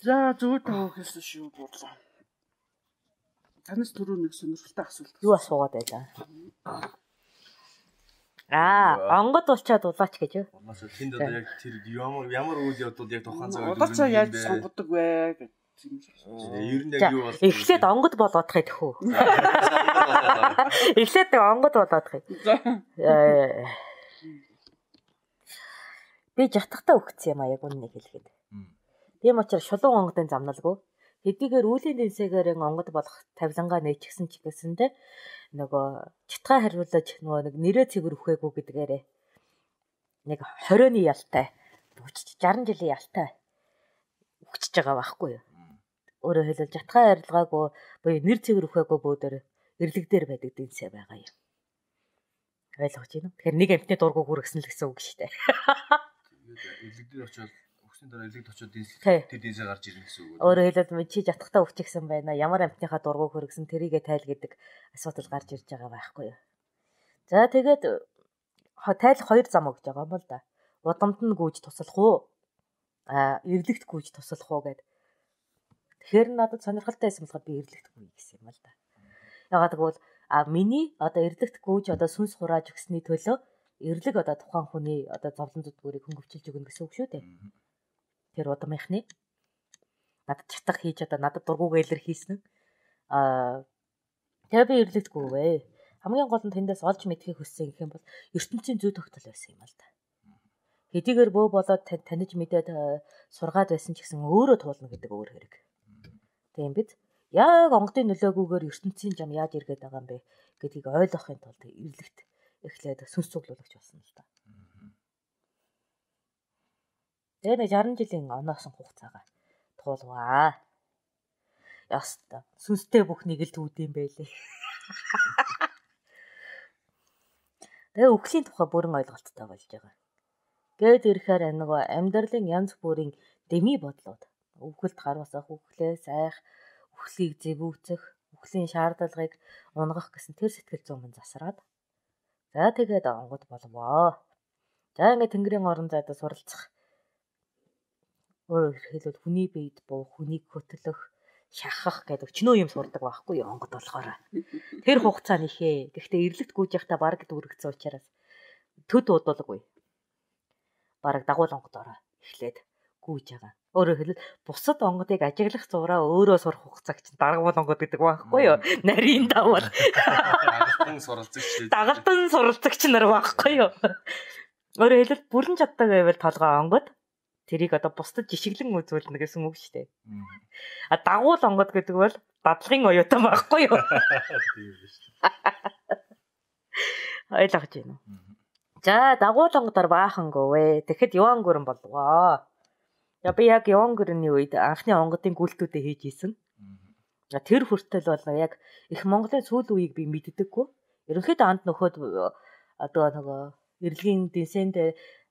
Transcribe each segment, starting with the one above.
За зөв тав гэсэн шүү буурлаа. Танаас түрүү нэг сонирхолтой асуулт. Юу асуугаад байлаа? Онгод улчаад улаач гэж юу? Унаасаа тэнд одоо яг тэр ямар үйл явдал яг тухайн цаг үед улаачаа яаж сонгодог вэ гэж юм шиг. Ер нь яг юу бол эхлээд онгод болгоодох юм тэхүү. Эхлээд онгод болгоодох юм. Би жатахтаа өгцсөн юм а яг үннийг хэлэхэд. Тийм учраас шулуун онгодын замналгүй. Хэдийгээр үүлийн дэнсэгээр онгод болох тавилангаа нээчихсэн ч гэсэндээ нөгөө чатгаа хариулж нөгөө нэг нэрээ цэгэр үхээгүй гэдгээрээ нэг 20-ны ялтай 60 жилийн ялтай өгчөж байгаа байхгүй юу. Өөрөөр хэлбэл жатгаа арилгаагүй буюу нэр цэгэр үхээгүй бөөдөр эрлэг дээр байдаг дэнсэ байгаа юм. Ойлгож байна уу? Тэгэхээр нэг амтны дургу хүргэсэн л гэсэн үг шүү дээ. Эрлэг дээр очиод өгсөний дараа эрлэгт очиод тэр дэнсэ гарч ирнэ гэсэн үг. Өөрөөр хэлбэл чи жатахтаа өвчихсэн байна. Ямар амтныхаа дургу хүргэсэн тэрийгэ тайл гэдэг асуудал гарч ирж байгаа байхгүй юу. За тэгээд тайлах хоёр зам өгж байгаа юм л да. Удамд нь гүйж туслах уу? Эрлэгт гүйж туслах уу гэд. Тэгэхээр надад сонирхолтой байсан болохоор би эрлэгт гүйе гэсэн юм л да. Ягаад гэвэл миний одоо эрлэгт гүйж одоо сүнс хурааж өгсөний төлөө эрлэг одоо тухайн хүний одоо зовлон зүтгүүрийг хөнгөвчилж өгнө гэсэн үг шүү дээ. Тэр удамынхны надад чатах хийж одоо надад дургуугаа илэрхийлсэн. Тэгээ би эрлэгт гүйвэ. Хамгийн гол нь тэндээс олж мэдхийг хүссэн гэх юм бол ертөнцийн зүй тогтол байсан юм л да. Хэдийгээр бөө болоод таниж мэдээд сургаад байсан ч гэсэн өөрөө туулна гэдэг өөр хэрэг. Тийм биз? Яг онгодын нөлөөгүйгээр ертөнцийн зам яаж иргээд байгаа юм бэ гэдгийг ойлгохын тулд эрлэгт эхлээд сүнс цуглуулагч болсон л да. Тэгээ нэг 60 жилийн оноосон хугацаагаа туулваа. Яста сүнстэй бүхнийг л төвд юм байлээ. Тэгээ үхлийн тухай бүрэн ойлголттой болж байгаа. Гээд ирэхээр нөгөө амьдралын янз бүрийн дэми бодлууд үхэлд харуулсах, үхлээ сайх, үхлийг зэвүүцэх, үхлийн шаардлагыг унгах гэсэн тэр сэтгэл зүйн мань засраад. За тэгээд онгод болвоо. За ингээд тэнгэрийн орон зайдаа суралцах. Өөрөөр хэлбэл хүний биед буух, хүнийг хөтлөх, шахах гэдэг өчнөө юм сурдаг байхгүй юу онгод болохоор. Тэр хугацааны ихээ. Гэхдээ эрлэгт гүйж явахдаа бараг дүүрэгцэн учраас төд удалгүй. Бараг дагуул онгодороо эхлээд гүйж байгаа. Өөрөөр хэлбэл бусад онгодыг ажиглах зураа өөрөө сурах хугацааг чинь даргуул онгод гэдэг байхгүй юу? Нарийн давал. Дагалдан суралцагч нар байхгүй юу? Өөрөөр хэлбэл бүрэн чаддаг байвал толгой онгод тэрийг одоо бусдад жишиглэн үзүүлнэ гэсэн үг шүү дээ. Дагуул онгод гэдэг бол дадлагын оюутан байхгүй юу? Тийм шүү дээ. Ойлгож байна уу? За дагуул онгодоор баахангөө. Тэгэхэд яван гүрэн болвоо. Би яг яван гүрний үед анхны онгодын гүйлтүүдээ хийж исэн. Тэр хүртэл бол яг их Монголын сүүл үеийг би мэддэггүй. Ерөнхийдөө анд нөхөд одоо нөгөө эрлэгийн дэнсэнд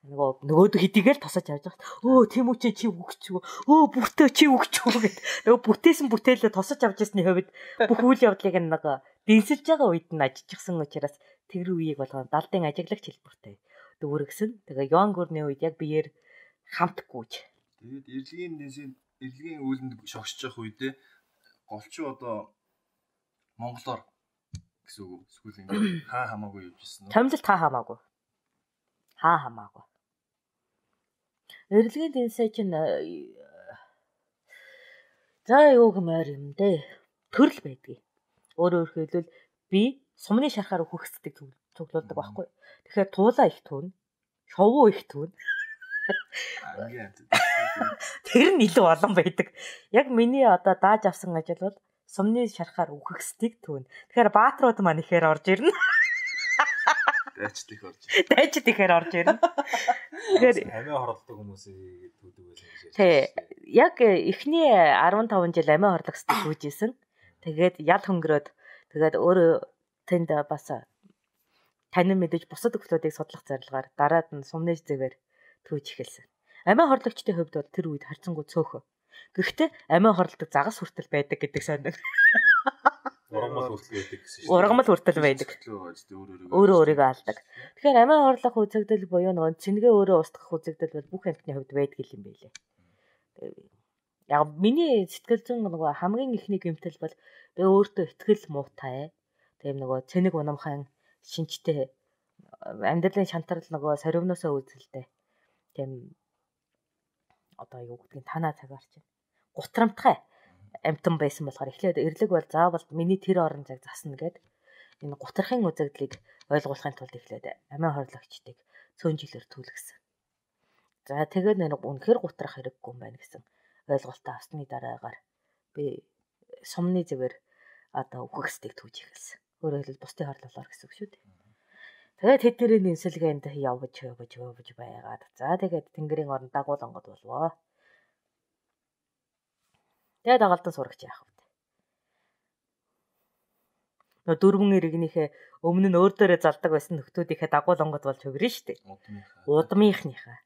нөгөөд хэдийгээр тасаж авч байгаа. Өө тийм үү чи үгчүү. Өө бүртээ чи үгчүү гэд. Нөгөө бүтээсэн бүтээлээ тосож авч ирсний хувьд бүх үйл явдлыг нэг дэнсэлж байгаа үед нь ажижчихсан учраас тэр үеийг болгоо далдын ажиглагч хэлбэртэй дүүргсэн. Тэгээ яван гүрний үед яг биеэр хамт гүйж. Тэгээд эрлэгийн үйлэнд шогсож явах үедээ голчуу одоо монголоор гэсэн үг эсвэл ингээд хаа хамаагүй явж ирсэн үү? Томилт хаа хамаагүй. Хаа хамаагүй. Эрлэгийн дэнсэ чинь за юу гэмээр юм дээ. Төрөл байдгийг. Өөрөөр хэлбэл би сумны шарахаар үхэгсдэг цуглуулдаг байхгүй. Тэгэхээр туулаа их түүн, шовуу их түүн. Тэр нь илүү олон байдаг. Яг миний одоо дааж авсан ажил бол сумны шарахаар үхэгсдэг түүн. Тэгэхээр баатрууд маань ихээр орж ирнэ. Дайчд их орж. Дайчд ихээр орж ирнэ. Тэгэхээр амиа хорлдог хүмүүсийг түүдэг байсан гэж. Тий. Яг эхний 15 жил амиа хорлогсдаг түүжсэн. Тэгээд ял хөнгөрөөд тэгээд өөрөө тэнд бас танин мэдээж бусад өвчлүүдийг судлах зорилгоор дараад нь сумны зэвэр түүж эхэлсэн. Амиа хорлогчдын хувьд бол тэр үед харцангуй цөөхөн. Гэхдээ амиа хорлдог загас хүртэл байдаг гэдэг сонир. Ургамал хүртэл байдаг гэсэн шүү. Ургамал хүртэл байдаг. Өөрөө өөрийгөө алдаг. Тэгэхээр амиа хорлох үзэгдэл буюу нөгөө цэнгээ өөрөө устгах үзэгдэл бол бүх амьтны хувьд байдаг юм байлээ. Яг миний сэтгэл зүйн нөгөө хамгийн ихний гэмтэл бол би өөртөө итгэл муутай. Тийм нөгөө цэник унамхан шинжтэй амьдралын шантарл нөгөө соривноосоо үзэлтэй. Тийм одоо юу гэдгийг танаа цагаар чинь гутрамтгай амтан байсан болохоор эхлээд эрлэг бол заавал миний тэр орон цаг засна гэд энэ гутрахын үзэгдлийг ойлгуулахын тулд эхлээд амиа хорлогчдыг цөөнжилээр түлгэсэн. За тэгээд нэг үнэхэр гутрах хэрэггүй юм байна гэсэн ойлголтоо авсны дараагаар би сумны зүгээр одоо үхэгсдийг түүж эхэлсэн. Өөрөөр хэлбэл бусдын хорлолоор гэсэн үг шүү дээ. Тэгээд тэдний нэмсэлгээнд явж байгаад. За тэгээд тэнгэрийн орон дагуулангод болвоо. Тэгээд дагалдан сурагч яах вэ? Нөө дөрвөн иргэнийхээ өмнө нь өөр дээрээ залдаг байсан нөхдүүдийнхээ дагуулангод болж өгөрнө шүү дээ. Удмынхныхаа.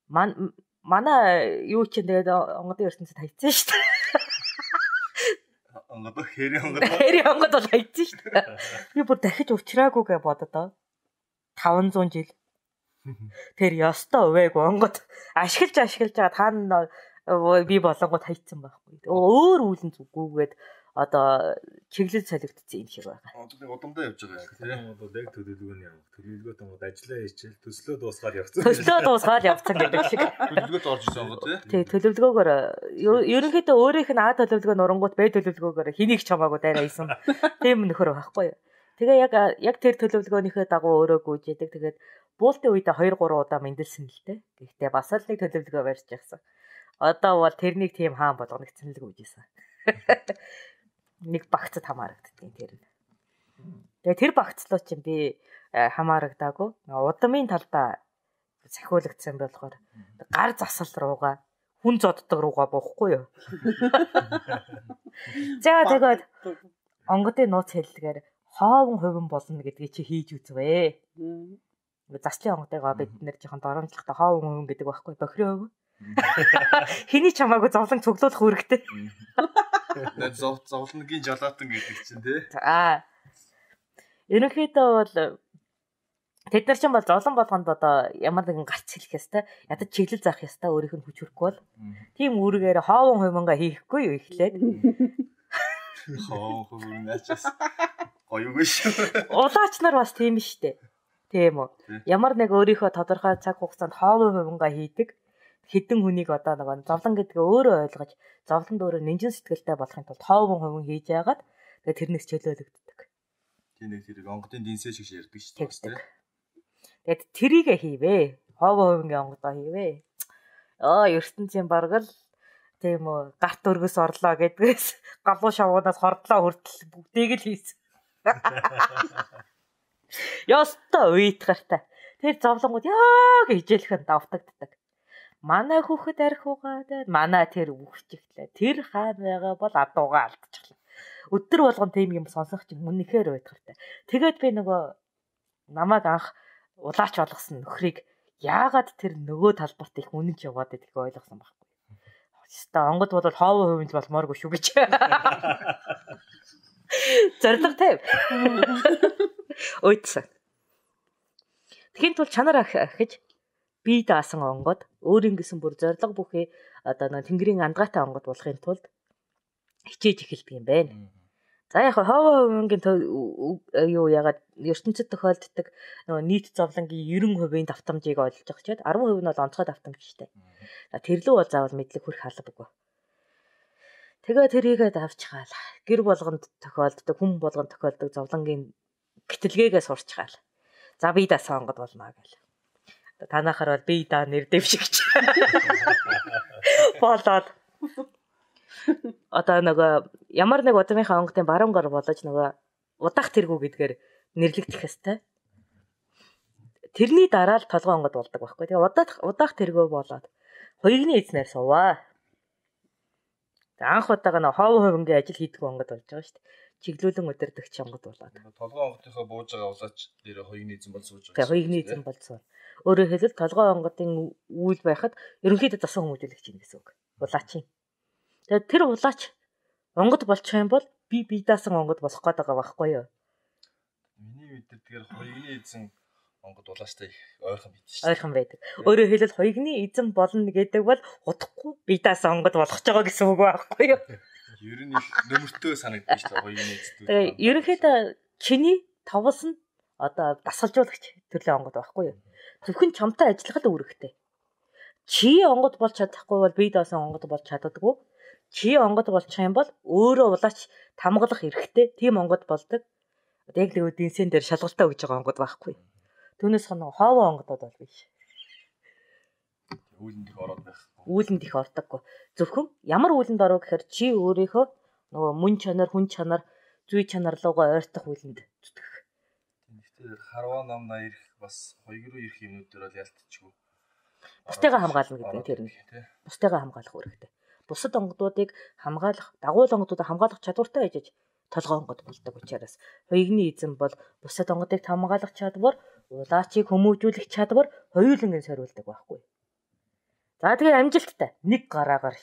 Манай юу ч тэгээд онгодын ертөнцид хайцсан шүү дээ. Онгод хэри онгод бол хайцсан шүү дээ. Би бүр дахиж уучраагүй гэж бододоо. 500 жил. Тэр ёстой увээг онгод ашиглаж байгаа таана би болонгод хайцсан байхгүй. Өөр үүлэн зүггүйгээд одоо чиглэл солигдсон юм шиг байгаа. Одоо удамдаа явж байгаа яг тийм. Одоо яг төлөвлөгөөний явах. Төлөвлөгөөт онгод ажиллаа хийчихэл төслөө дуусгаад явцсан. Төслөө дуусгаад явцсан гэдэг шиг. Төлөвлөгөөт орж исэн онгод тий. Төлөвлөгөөгөөр ерөнхийдөө өөрийнх нь А төлөвлөгөө нурангууд Б төлөвлөгөөгөөр хэнийг ч хамаагүй дайраа исэн. Тийм нөхөр байхгүй юу. Тэгээ яг тэр төлөвлөгөөнийхөө дагуу өөрөө гүйжээдэг. Тэгээд буултын үедээ 2 3 удаа мэндэлсэн л дээ. Гэхдээ бас л нэг төлөвлөгөө барьж явсан. Одоо бол тэрнийг тийм хаан болгоногдсон л гүйжээсэн. Нэг багцад хамаарагддгийн тэр. Тэгээ тэр багцлуу чинь би хамаарагдаагүй. Удамын талдаа сахиулагдсан болохоор гар засал руугаа хүн зоддог руугаа буухгүй юу. За тэгээд онгодын нууц хэллэгээр хоовон хувин болно гэдгийг чи хийж үзвэ. Заслын онгодыгоо бид нэр жоохон доромжлохтой хоовон хувин гэдэг байхгүй бохирын хувин. Хэний ч хамаагүй зовлон цуглуулах үүрэгтэй. Зовлонгийн жалаатан гэдэг чинь тий. Ерөнхийдөө бол тэд нар ч бол зовлон болгонд одоо ямар нэгэн гарц хэлэх ёстой. Ядаж чиглэл заах ёстой өөрийнх нь хүч хөрөхгүй бол. Тийм үүргээр хоовон хувингаа хийхгүй юу эхлээд. Хоовон хувин ачаас гоёгүй шүү. Улаач нар бас тийм шүү дээ. Тийм үү. Ямар нэг өөрийнхөө тодорхой цаг хугацаанд хоовон хувингаа хийдэг. Хэдэн хүнийг одоо нэг зовлон гэдгээ өөрөө ойлгож зовлонд өөрөө нэмжин сэтгэлтэй болохын тулд хоовон хувин хийж яагаад тэгээ тэрнээс чөлөөлөгддөг. Тийм нэг тэр онгодын динсээ шиг ярьдаг шүү дээ. Тэгээд трийгээ хийвээ. Хоовон хувингийн онгодоо хийвээ. ертөнцийн баргал тийм үү гарт өргөс орлоо гэдгээс галуу шавуунаас хордлоо хүртэл бүгдийг л хийсэн. Ёстой уйтгартай. Тэр зовлонгууд яа гэж хичээлхэн давтагддаг. Манай хүүхэд арх угаад манай тэр үхчихлээ. Тэр хаан байгаа бол адуугаа алдчихлаа. Өдөр болгон тийм юм сонсох чинь үнэхээр уйтгартай. Тэгээд би нөгөө намайг анх улаач болгосон нөхрийг яагаад тэр нөгөө талбарт их үнэнч яваад гэдгийг ойлгосон байхгүй. Хэвээ онгод бол хоовон хувинж болмооргүй шүү гэж. Зориг тавь. Уйтсан. Тэгхийн тул чанар ахиж бие даасан онгод өөрийн гэсэн бүр зориг бүхий одоо нэг тэнгэрийн андгаатай онгод болохын тулд хичээж эхэлдэг юм байна. За яг хоовон хувингийн юу ягаад ертөнцид тохиолддог нөгөө нийт зовлонгийн 90% давтамжийг олж байгаа ч 10% нь бол онцгой давтамж штэ. Тэр лүү бол заавал мэдлэг хүрэх албагүй. Тэгээ тэрийгээ давчгаал. Гэр болгонд тохиолддог, хүн болгонд тохиолддог зовлонгийн битэлгээгээ сурчгаал. За бие даасан онгод болноо гэл. Танахаар бол бие даа нэр дэвшигч. Болоод одоо нөгөө ямар нэг удмынхаа онгодын баруун гар болож нөгөө удаах тэргүү гэдгээр нэрлэгдэх хэвээр. Тэрний дараа л толгой онгод болдог байхгүй. Тэгээ удаах тэргүү болоод хоёрны эзнэр суваа. Анх удаага нөө хоовон хувингийн ажил хийдэг онгод болж байгаа шүү дээ. Чиглүүлэн өдөрдөгч онгод болоод. Толгой онгодынхоо бууж байгаа улаач дээр хоёрны эзэн бол сууж байгаа. Тэгээ хоёрны эзэн болсон. Өөрөөр хэлбэл толгой онгодын үйл байхад ерөнхийдөө засан хүмүүжүүлэгч юм гэсэн үг. Улаачийн. Тэгээд тэр улаач онгод болчих юм бол би даасан онгод болох гээд байгаа байхгүй юу? Миний мэддэг тэгэхээр хоёрны эзэн онгод улаастай ойрхон бид шүү. Ойрхон байдаг. Өөрөөр хэлбэл хоёрны эзэн болно гэдэг бол удахгүй бие даасан онгод болох ч байгаа гэсэн үг байхгүй юу? Ер нь нөмөртөө санагдаж шүү хоёрны эзэдүүд. Тэгээ ерөнхийдөө чиний товс нь одоо дасгалжуулагч төрлийн онгод байхгүй юу? Зөвхөн чамтай ажиллах л үүрэгтэй. Чи онгод болж чадахгүй бол бие даасан онгод болж чаддаггүй. Чи онгод болчих юм бол өөрөө улаач тамгалах эрхтэй. Тийм онгод болдог. Яг л дэнсэн дээр шалгалтаа өгж байгаа онгод байхгүй. Түүнээс хоног хоовоо онгодод бол биш. Үүлэнд их ороод байх. Үүлэнд их ордоггүй. Зөвхөн ямар үүлэнд оров гэхээр чи өөрийнхөө нөгөө мөн чанар, хүн чанар, зүй чанар руугаа ойртох үүлэнд зүтгэх. Тэгэхээр харваа намнаа ирэх бас хоёр ирэх юмнууд дээр бол ялтчихгүй. Бусдыгаа хамгаална гэдэг нь тэр нь. Бусдыгаа хамгаалах үүрэгтэй. Бусад онгодуудыг хамгаалах, дагуул онгодуудыг хамгаалах чадвартай ээжж толгой онгод болдог учраас хоёрны эзэн бол бусад онгодыг хамгаалах чадвар, улаачийг хүмүүжүүлэх чадвар хоёулангийн сорилдог байхгүй. За тэгээ амжилттай нэг гараагаар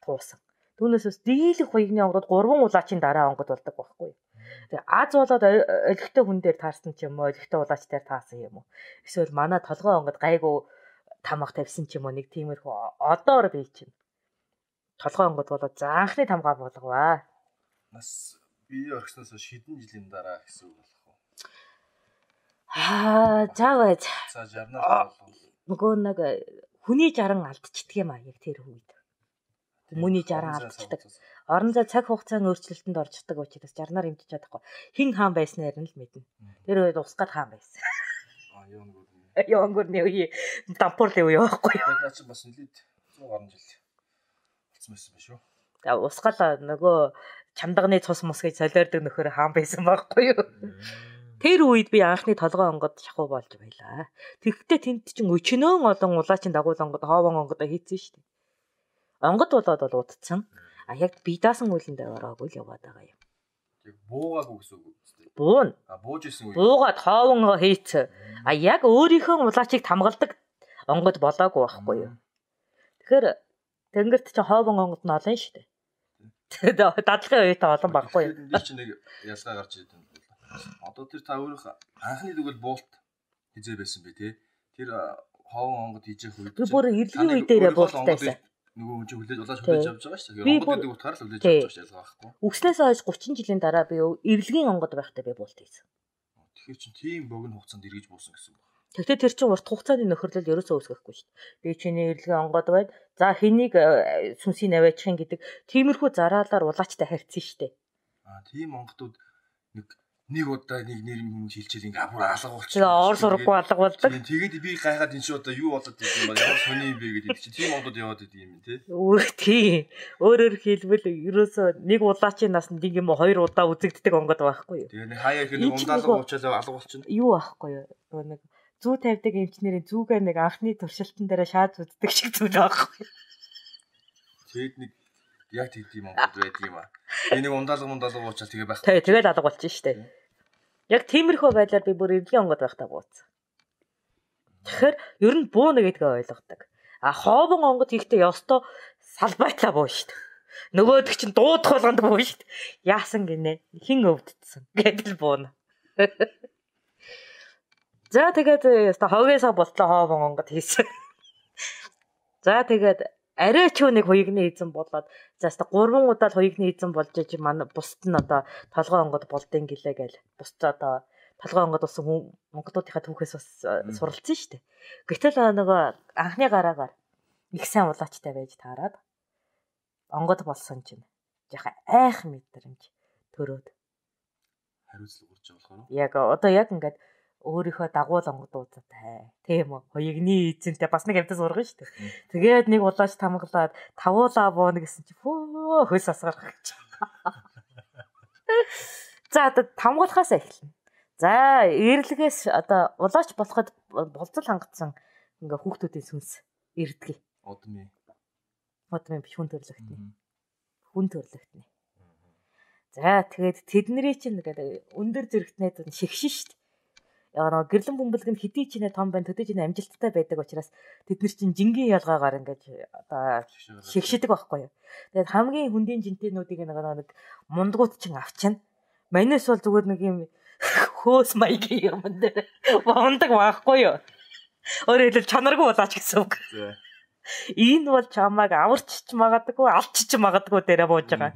туусан. Түүнээс дийлэх хоёрны онгодод 3 улаачийн дараа онгод болдог байхгүй. Тэгээ аз болоод олигтой хүн дээр таарсан ч юм уу, олигтой улаач дээр таасан юм уу. Эсвэл манай толгой онгод гайгүй тамга тавьсан ч юм уу, нэг тиймэрхүү одоор бий чинь. Толгой онгод болоод заанхны тамгаа болговаа. Нас бие орхисноос шидэн жилийн дараа гэсэн үг болох уу? Заавал. За 60-наар болов. Нөгөө нэг хүний 60 алдчихдаг юм аа яг тэр үед. Хүмүүний 60 алдчихдаг. Орон зай цаг хугацааны өөрчлөлтөнд орждаг учраас 60-наар хэмжиж чадахгүй. Хин хаан байснаар нь л мэднэ. Тэр үед усгаад хаан байсан. Ёнгорны үе дампуурлын үе байхгүй юу? Наа чи бас нэлээд 100 гаруй жил болсон байсан биш үү? За усгаал нөгөө чамдагны цус мус гэж солиордог нөхөр хаан байсан байхгүй юу? Тэр үед би анхны толгой онгод шахуу болж байлаа. Тэгэхдээ тэнд чинь өчнөөн олон улаачин дагуул онгод хоовон онгодоо хийцэн шүү дээ. Онгод болоод бол удцсан. А яг бие даасан үйлэндээ ороогүй л яваад байгаа юм. Яг буугаагүй гэсэн үг үстэй. Буун. Бууж исэн үе. Буугаад хоовон хийцэн. А яг өөрийнхөө улаачийг тамгалдаг онгод болоогүй байхгүй юу? Тэгэхээр тэнгэрт чинь хоовон онгод нь олон шүү дээ. Дадлагын үетэй олон байхгүй юу? Энд чинь нэг ялгаа гарч ирээд байна. Одоо тэр та өөрөх анхны дүгэл буулт хизээ байсан бэ те. Тэр хоовон онгод хийж явах үед би бүр эрлийн үе дээрээ буултайсан. Нөгөө хүн чинь хүлээж улааж хүлээж авч байгаа шүү дээ. Онгод гэдэг утгаараа л хүлээж авч байгаа ялгаа байхгүй. Үгснээс хойш 30 жилийн дараа би эрлийн онгод байхдаа би буулт хийсэн. Тэгэхээр чинь тийм богино хугацаанд эргэж буусан гэсэн үг. Тэгтээ тэр чинь урт хугацааны нөхөрлөл ерөөсөө үүсгэхгүй шүү дээ. Би чиний эрлийн онгод байд. За хэнийг сүнсийг аваачихын гэдэг тиймэрхүү зараалаар улаачтай харьцсан шүү дээ. Тийм онгодууд нэг удаа нэг нэр юм хилчээл ингээ бүр алга болчих. Тэгээ ор сурахгүй алга болдог. Тэгээд би гайхаад энэ чи одоо юу болоод идэв юм бэ? Ямар сони юм бэ гэдэг чи тийм онгод яваад идэв юм тий. Тийм. Өөрөөр хэлбэл ерөөсөө нэг улаачийн насанд нэг юм 2 удаа үзэгддэг онгод байхгүй юу? Тэгээ нэг хаяа их нэг ундаалга уучаал алга болчихно. Юу байхгүй юу? Нэг зүү тавьдаг эмчнэрийн зүүгээ нэг анхны туршилтан дээр шаад үздэг шиг зүйл байхгүй юу? Тэгэд нэг яг тийм онгод байдаг юм аа. Би нэг ундаалга уучаал тэгээ байх. Тэгээд алга болчих шүү дээ. Яг тиймэрхүү байдлаар би бүр эрлийн онгод байхдаа бууцсан. Тэгэхээр ер нь бууна гэдгээ ойлгодог. А хоовон онгод хийхдээ ёстой салбайтлаа буу шүү дээ. Нөгөөдөг чинь дуудах болгонд буу шүү дээ. Яасан гинэ? Хин өвддсөн гэдэл бууна. За тэгээд ёстой хогоосоо болтлоо хоовон онгод хийсэн. За тэгээд арай ч нэг хоёрны эзэн болоод за ёстой 3 удаа л хоёрны эзэн болж иж манай бусд нь одоо толгой онгод болдсон гэлээ гээл. Бусд одоо толгой онгод болсон хүн монголуудынхаа түүхээс бас суралцсан шүү дээ. Гэтэл нөгөө анхны гараагаар их сайн улаачтай байж таарад онгод болсон чинь яха айх мэдрэмж төрөөд хариуцлага урж байгаа болохоор яг одоо яг ингээд өөрийнхөө дагуул онгодуудтай тийм үү хоёрны эзэнтэй бас нэг амтас ургана шүү дээ. Тэгээд нэг улаач тамглаад тавуулаа бууна гэсэн чи хөө хөөс асгарах гэж. За одоо тамгуулахаас эхэлнэ. За эрлэгээс одоо улаач болоход болцол хангацсан ингээ хүүхдүүдийн сүнс эрдгий. Удмын биш хүн төрлөختний. Хүн төрлөختний. За тэгээд тэдний чинь өндөр зэрэгтнээд шигшин шүү дээ. Яа гэрлэн бөмбөлгөнд хэдий ч нэ том байн төдөж нэ амжилттай байдаг учраас тэд нар чинь жингийн ялгаагаар ингэж одоо шигшдэг байхгүй юу. Тэгээд хамгийн хүндийн жинтэнүүдийг нэг мундгууд чинь авчна. Манайс бол зүгээр нэг юм хөөс маягийн юм дээр бондог байхгүй юу? Өөрөөр хэлбэл чанаргүй болооч гэсэн үг. Энэ бол чамайг аварчч магадгүй, алчч магадгүй дээрээ бууж байгаа.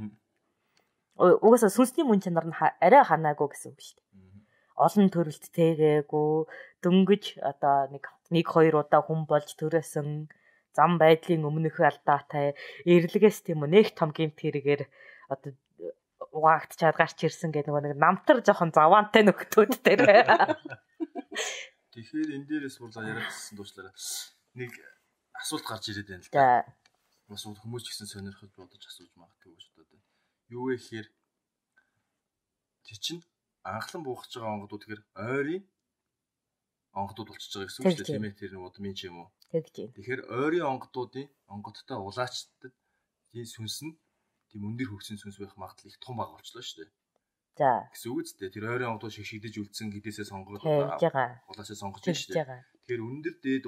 Угаасаа сүнсний мөн чанар нь арай ханаагүй гэсэн үг шүү дээ. Олон төрөлт тэгээгүй, дөнгөж одоо нэг 2 удаа хүн болж төрөөсөн, зам байдлын өмнөх алдаатай, эрлэгээс тийм үү нэг том гэмт хэрэгээр одоо угаагтчаад гарч ирсэн гэдэг нэг намтар жоохон заваантай нөхдүүд дээр. Тэгэхээр энэ дээрээс бурлаа яриадсан дуучлаараа нэг асуулт гарч ирээд байна л да. Бас хүмүүс ч гэсэн сонирхож бодож асууж магадгүй гэж бодоод байна. Юу вэ гэхээр тий чинь анхлан буухаж байгаа онгодууд тэгэхээр ойрын онгодууд болчихж байгаа гэсэн үг шүү дээ. Тийм ээ тэр нэг удмын ч юм уу. Тэгэхээр ойрын онгодтой улаачдад тийм сүнс нь тийм өндөр хөгсөн сүнс байх магадлал их том бага болчихлоо шүү дээ. За. Гэсэн үг үстэй. Тэр ойрын онгодууд шигшигдэж үлдсэн гэдээсээ сонгоод улаачаа сонгож байна шүү дээ. Тэгэхээр өндөр дээд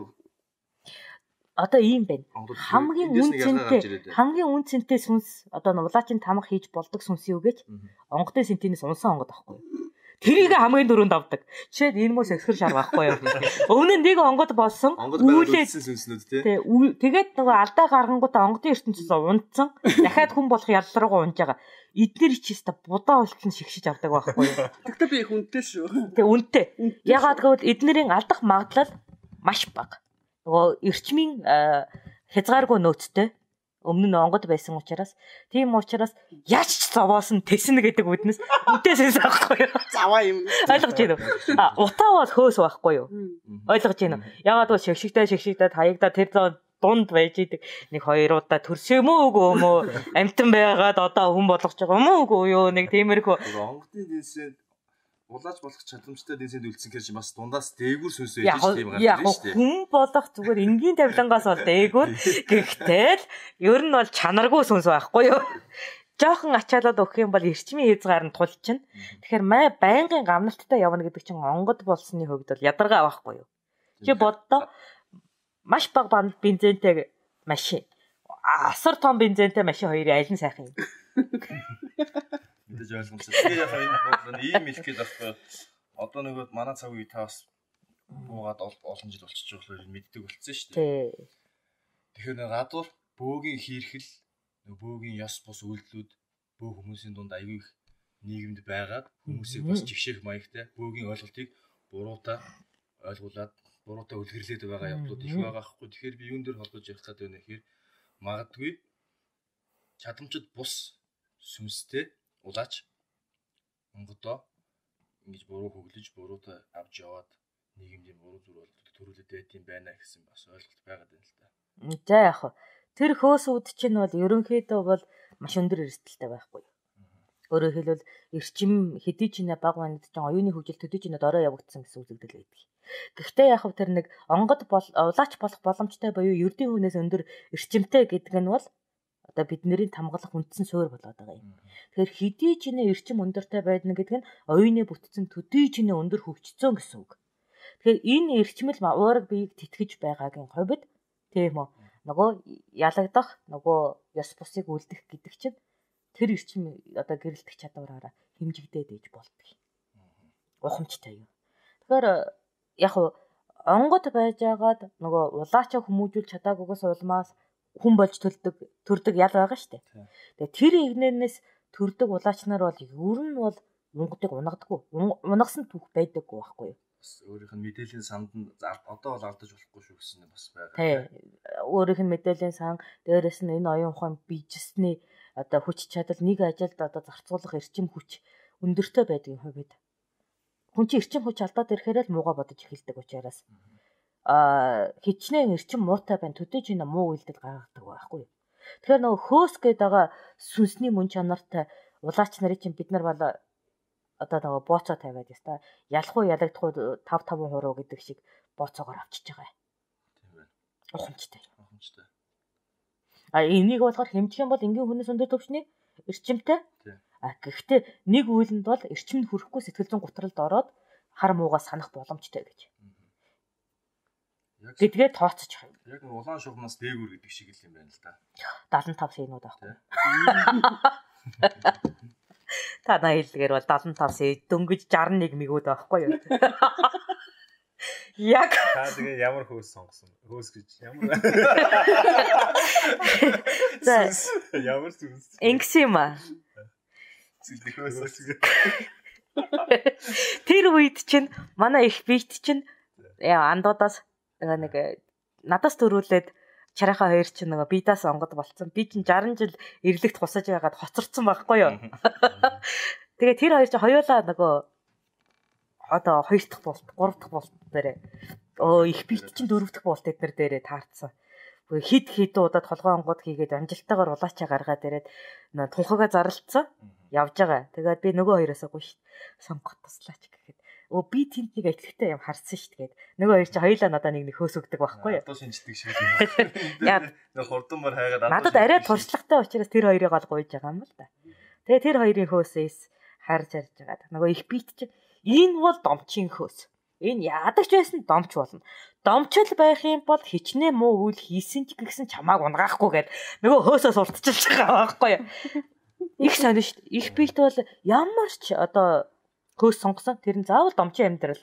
одоо ийм байна. Хамгийн үн цэнтэй сүнс одоо улаачийн тамга хийж болдог сүнс юу гэж онгодын сентинээс унсан онгод байхгүй юу? Тэрийг хамгийн дөрөнд авдаг. Жишээд энэ мөс эксхэр шар байхгүй юу? Өмнө нь нэг онгод болсон. Үүлээсэн сүнснүүд тий. Тэгээд нөгөө алдаа гаргангуудаа онгодын ертөнцөөс унтсан. Дахиад хүн болох ялруугаа унж байгаа. Эдгээр чиста будаа болтон шигшиж авдаг байхгүй юу? Тэгтээ би их үнэтэй шүү. Тэг үнэтэй. Ягаад гэвэл эднэрийн алдах магадлал маш бага. Нөгөө эрчмийн хязгааргүй нөөцтэй өмнө нь онгод байсан учраас тийм учраас яаж ч зовоосон тэснэ гэдэг үднэс үнтэйсэн байхгүй юу? Заваа юм. Ойлгож байна уу? Утаа бол хөөс байхгүй юу? Ойлгож байна уу? Ягаад бол шигшигдээ хаягдаа тэр дунд байж идэг нэг 2 удаа төрсөн юм уу үгүй юм уу? Амтан байгаад одоо хүн болгож байгаа юм уу үгүй юу? Нэг тиймэрхүү онгодын дэнсэд улаач болох чадамжтай дэнсэнд үлдсэн гэж бас дундаас дээгүүр сүнс байж тийм гарч ирж штэ. Хүн болох зүгээр энгийн тавилангаас бол дээгүүр. Гэхдээ л ер нь бол чанаргүй сүнс байхгүй юу? Жохон ачаалаад өгөх юм бол эрчмийн хязгаар нь тулчин. Тэгэхээр байнгын гамналттай явна гэдэг чинь онгод болсны хувьд бол ядаргаа байхгүй юу? Чи боддоо маш бага бензинтэй машин. Асар том бензинтэй машин хоёрын аль нь сайхан юм? Мэдээж ойлгомжтой. Тэгээ яг энэ бодлоо ийм хэлэх гээд байхгүй. Одоо нөгөө манай цаг үе таас буугаад олон жил болчихж байгаа болохоор мэддэг болцсон шүү дээ. Тэгэхээр нэг гадуур бөөгийн хийрхэл, бөөгийн ёс бус үйлдэлүүд бөө хүмүүсийн дунд аягүй их нийгэмд байгаад хүмүүсийг бас жигшээх маягтай бөөгийн ойлголтыг буруутай ойлгуулад буруутай үлгэрлээд байгаа явдлууд их байгаа хгүй. Тэгэхээр би юун дээр холбож ярих гэдэг вэ гэхээр магадгүй чадамжид бус сүнстэй улаач онгодоо ингэж буруу хөглөж буруутай авч яваад нийгэмд буруу зүйл болдог төрүүлээд байт юм байна гэсэн бас ойлголт байгаад байна л да. За яг тэр хөөсүүд чинь бол ерөнхийдөө бол маш өндөр эрсдэлтэй байхгүй. Өөрөөр хэлбэл эрчим хэдий ч нэ баг манд чинь оюуны хөгжил төдий ч нэ дорой явагдсан гэсэн үзэгдэл байдаг. Гэхдээ яг тэр нэг онгод улаач болох боломжтой буюу ердийн хүнээс өндөр эрчимтэй гэдэг нь бол одоо бидний тамгалах үндсэн суурь болоод байгаа юм. Тэгэхээр хэдий ч нэ эрчим өндөртэй байдна гэдэг нь оюуны бүтцэн төдий ч нэ өндөр хөгжцсөн гэсэн үг. Тэгэхээр энэ эрчмэл уураг биеийг тэтгэж байгаагийн хувьд тийм үү нөгөө ялагдах нөгөө ёс бусыг үлдэх гэдэг чинь тэр эрчим одоо гэрэлтэх чадвараараа хэмжигдээд ээж болдог. Ухамжтай юу. Тэгэхээр яг онгод байжгаад нөгөө улаачаа хүмүүжүүлж чадаагүйгээс улмаас хүн болж төрдөг ял байгаа шүү дээ. Тэгээ тэр игнэрнээс төрдөг улаачнаар бол ер нь бол онгодыг унагдаггүй. Унагсан түүх байдаггүй байхгүй юу? Бас өөрийнх нь мэдээллийн санд нь одоо бол алдаж болохгүй шүү гэсэн нь бас байгаа. Тий. Өөрийнх нь мэдээллийн сан дээрэс нь энэ оюун ухаан бичсний одоо хүч чадал нэг ажилд одоо зарцуулах эрчим хүч өндөртэй байдгийн хувьд хүн чинь эрчим хүч алдаад ирэхээр л муугаа бодож эхэлдэг учраас хичнээн эрчим муутай байна төдий ч энэ муу үйлдэл гаргадаг байхгүй. Тэгэхээр нөгөө хөөс гээд байгаа сүнсний мөн чанартай улаач нарын чинь бид нар бол одоо нөгөө бооцоо тавиад яста ялахгүй ялагдахгүй 5-5% гэдэг шиг бооцоогоор авчиж байгаа. Тийм байна. Ухамжтай. Ухамжтай. Энийг болохоор хэмжих юм бол энгийн хүнээс өндөр төвчний эрчимтэй. Гэхдээ нэг үйлэнд бол эрчим нь хүрэхгүй сэтгэл зүйн гутралд ороод хар муугаа санах боломжтой гэж. Гэдгээ тооцож байгаа юм. Яг улаан шугамнаас дээгүүр гэдэг шиг л юм байна л да. 75 синууд аахгүй. Танаа хэллэгээр бол 75 дөнгөж 61 мэгүүд байхгүй юу? Яг Та тэгээ ямар хөөс сонгосон? Хөөс гэж ямар ямар зүс. ингэс юм аа. Зэлхөөс. Тэр үед чинь манай их бийт чинь андуудаас нэг надаас төрүүлээд чарайхаа хоёр чинь нөгөө бидаас онгод болцсон. Би чинь 60 жил эрлэгт хусаж байгаад хоцорсон байхгүй юу? Тэгээ тэр хоёр чинь хоёулаа нөгөө одоо 2 дахь болт, 3 дахь болт дээрээ их бийт чинь 4 дахь болт эднэр дээрээ таарцсан. Хид удаад толгой онгод хийгээд амжилттайгаар улаачаа гаргаад ирээд тунхагаа зарлцсан. Явж байгаа. Тэгээд би нөгөө хоёроосоо гоо сонгох туслаач гэхэд би тэнд нэг ажигтай юм харсан шүү дээ. Нөгөө хоёр чи хоёулаа надаа нэг хөөс өгдөг байхгүй юу? Одоо шинждэг шиг юм. Нэг хурдмар хайгаад надад арай туршлагатай учраас тэр хоёрыг ол гуйж байгаа юм л да. Тэгээ тэр хоёрын хөөсөөс харж арж байгаа. Нөгөө их бийт чи энэ бол домчин хөөс. Энэ ядагч байсан домч болно. Домчл байх юм бол хичнээн муу үйл хийсэн ч гэсэн чамааг унгаахгүй гээд нөгөө хөөсөөс уртчилж байгаа байхгүй юу? Их сонир шүү дээ. Их бийт бол ямар ч одоо хөөс сонгосон тэр нь заавал домчин амьдрал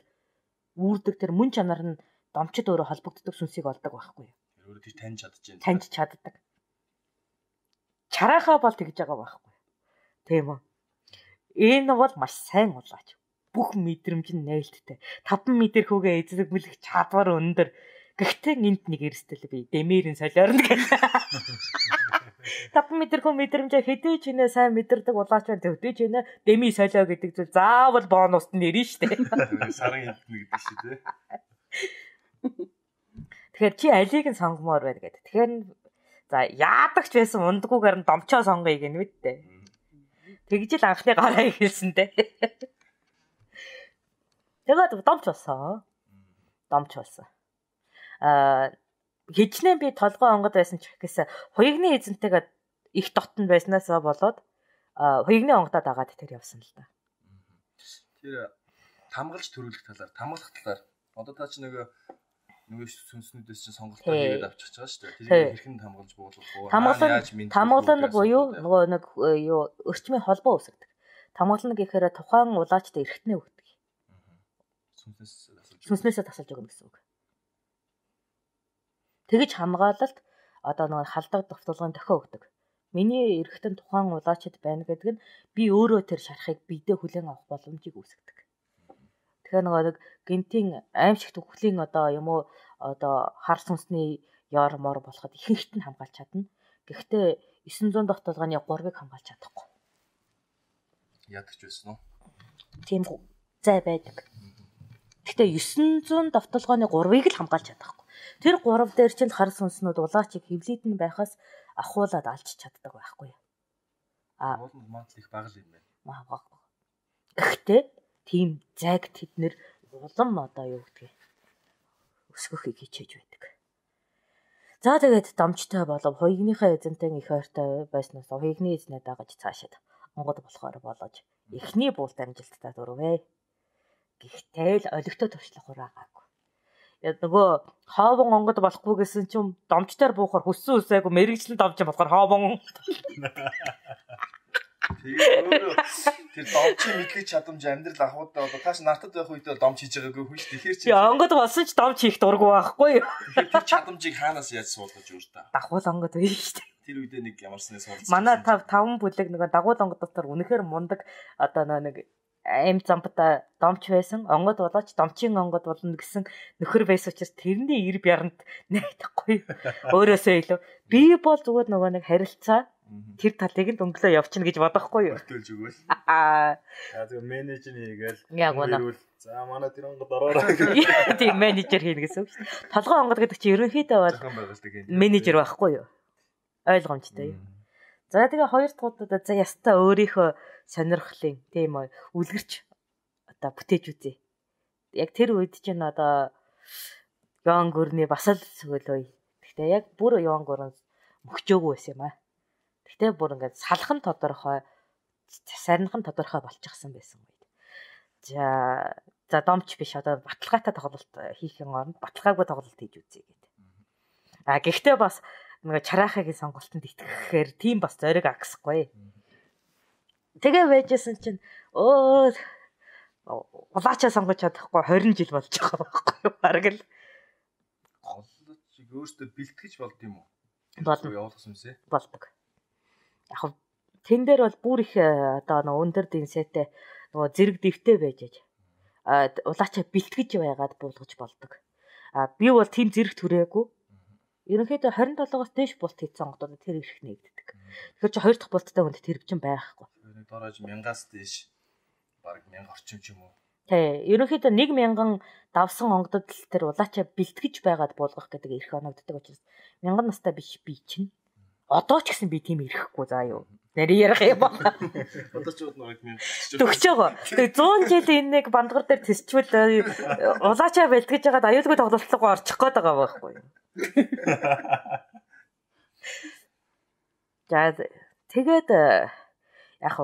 үүрдэг тэр мөн чанар нь домчид өөрөө холбогддог сүнсийг олдог байхгүй юу? өөрөө тэр таньж чадчихээн. Таньж чаддаг. Чарайхаа бол тэгж байгаа байхгүй. Тийм үү? Энэ бол маш сайн улаач. Бүх мэдрэмж нь нээлттэй. 5 метр хүүгээ эзлэх мүлэх чадвар өндөр. Гэхдээ энд нэг эрсдэл би дэмэрийн солиорно гэх. 5 метр хүн мэдрэмжээ хэдий ч нэ сайн мэдэрдэг улаач байна. Хэдий ч нэ дэми солио гэдэг зүйл заавал бонуст нэрнэ штэ. Сарын хэмтнэ гэдэг шиг тий. Тэгэхээр чи алийг нь сонгомоор байна гэдэг. Тэгэхээр за яадагч байсан ундгуугаар нь домчоо сонгоё гэнэ мэд дээ. Тэгж л анхны гараа ихэлсэн дээ. Тэгээд домч болсон. Хичнээн би толгой онгод байсан ч гэхээс хуягны эзэнтэйгээ их дотн байснаасаа болоод хуягны онгодоо дагаад тэр явсан л да. Тэр хамгаалж төрүүлэх талаар, хамгаалах талаар одоо та чи нөгөө сүнснүүдээс чинь сонголтоо хийгээд авчихж байгаа шүү дээ. Тэрийг хэрхэн хамгаалж буулгах вэ? Хамгаална буюу нөгөө нэг юу өрчмийн холбоо үүсгдэг. Хамгаална гэхээр тухайн улаачд эргэтнээ өгдөг. Сүнснээсээ тасалж өгнө гэсэн үг. Тэгэж хамгаалалт одоо нэг халдаг давталгын дохио өгдөг. Миний эргэтэн тухайн улаачд байна гэдэг нь би өөрөө тэр шарахыг бидээ хүлээн авах боломжийг үүсгэдэг. Тэгэхээр нэг гинтийн аимшигт үхлийн одоо юм уу одоо хар сүнсний яар мор болоход ихэнхт нь хамгаалж чадна. Гэхдээ 900 давталгааны 3-ыг хамгаалж чадахгүй. Ядагч байсан уу? Тийм зай байдаг. Гэхдээ 900 давталгааны 3-ыг л хамгаалж чадахгүй. Тэр 3 дээр чинь хар сүнснүүд улаачиг хөвлөдөн байхаас ахуулаад алж чаддаг байхгүй юу? Уулын мантал их бага л юм байна. Гэхдээ тийм зайг тэднэр улам одоо юу гэдгийг өсгөхийг хичээж байдаг. За тэгээд домчтой болов хуягныхаа эзэнтэй их ойртой байснаас хуягны эзнээ дагаж цаашаад онгод болохоор болож эхний буулт амжилттай дурвэ. Гэхдээ л олигтой туршлах хураагаагүй. Яг нөгөө хоовон онгод болохгүй гэсэн чинь домчтойр буухаар хүссэн үсээгүй мэрэгчлэн домч болохоор хоовон. Тэгээд өөрөө тэр домчийн мэдлэг чадамж амьдрал ахуудаа одоо тааш нартад байх үедээ домч хийж байгаагүй хүн ш. Тэгэхээр чи онгод болсон ч домч хийх дурггүй байхгүй юу? Тэгэхээр тэр чадамжийг хаанаас яаж суулгаж өөртөө? Дагуул онгод байна шүү дээ. Тэр үедээ нэг ямарснаас суулгаж. Манай 5 бүлэг нөгөө дагуул онгод дотор үнэхээр мундаг одоо нэг аим зампта домч байсан. Онгод болооч домчийн онгод болно гэсэн нөхөр байсан учраас тэрний ир бяранд найдахгүй. Өөрөөсөө илүү би бол зүгээр нөгөө нэг харилцаа тэр талыг нь өнгөлөө явчихна гэж бодохгүй юу? Өртөөлж өгөөл. Тэгээ менежер хийгээл. Яг үнэ. За манай тэр онгод ороорой. Тийм менежер хийнэ гэсэн үг шүү дээ. Толгой онгод гэдэг чинь ерөнхийдөө бол менежер байхгүй юу? Ойлгомжтой юу? За тэгээ хоёр дахь удаа за ястаа өөрийнхөө сонирхлын тийм үү үлгэрч одоо бүтээж үзье. Яг тэр үед чинь одоо Ян гүрний бас л сөгөлөө. Гэхдээ яг бүр Ян гүрэн мөхчөөгүй байсан юм аа. Гэхдээ бүр ингээд салхан тодорхой сарнихан тодорхой болчихсон байсан үед. За домч биш одоо баталгаатай тоглолт хийхин оронд баталгаагүй тоглолт хийж үзье гэдэг. Гэхдээ бас нэг чарайхагийн сонголтод итгэхээр тийм бас зориг агсахгүй. Тэгээ байжсэн чинь улаачаа сонгож чадахгүй 20 жил болж байгаа байхгүй баг л. Улаачиг өөртөө бэлтгэж болд юм уу? Болно. Явуулах юмсэ? Болдог. Яг тэн дээр бол бүр их одоо өндөр динсэтэй нөгөө зэрэг дэвтэй байж улаачаа бэлтгэж байгаад буулгаж болдог. Би бол тийм зэрэг түрээгүй. Ерөнхийдөө 27-оос дээш булт хийсэн онгодод тэр ирэх нэгддэг. Тэгэхээр чи 2 дахь булттай хүнд тэр чинь байхгүй. Дорож 1000-аас дээш бараг 1000 орчим ч юм уу. Тий, ерөнхийдөө 1000 давсан онгодод л тэр улаачаа бэлтгэж байгаад буулгах гэдэг эрх оногддог учраас 1000 настай биш би чинь. Одоо ч гэсэн би тийм ирэхгүй заа юу. Нэр ярих юм байна. Одоо ч нэг 1000 төгсөж байгаа. Тэгээ 100 жил энэ нэг бандгар дээр төсчвөл улаачаа бэлтгэж байгаад аюулгүй тоглолцоогоо орчих гээд байгаа байхгүй юу. За тэгээд яг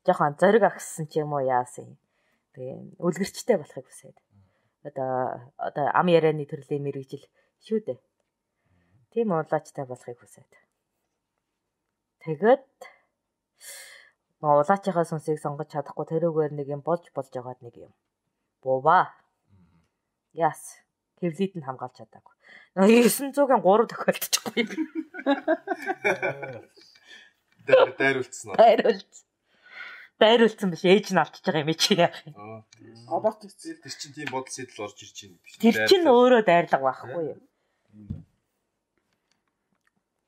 жоохон зориг агссан ч юм уу яасан. Тэгээ үлгэрчтэй болохыг хүсээд. Одоо ам ярианы төрлийн мэрэгжил шүү дээ. Тийм улаачтай болохыг хүсээд. Тэгээд улаачийнхаа сүнсийг сонгож чадахгүй тэрүүгээр нэг юм болж байгаад нэг юм. Бууба. Яс. Хэвлийд нь хамгаалж чадаагүй. 900-ийн 3 тохиолдчихгүй. Дайруулсан уу? Дайруулсан биш ээж нь авчиж байгаа юм чи яах юм. Аборт хийцэл тэр чинь тийм бодол сэтэл орж ирж байна биш. Тэр чинь өөрөө дайрлага байхгүй юу?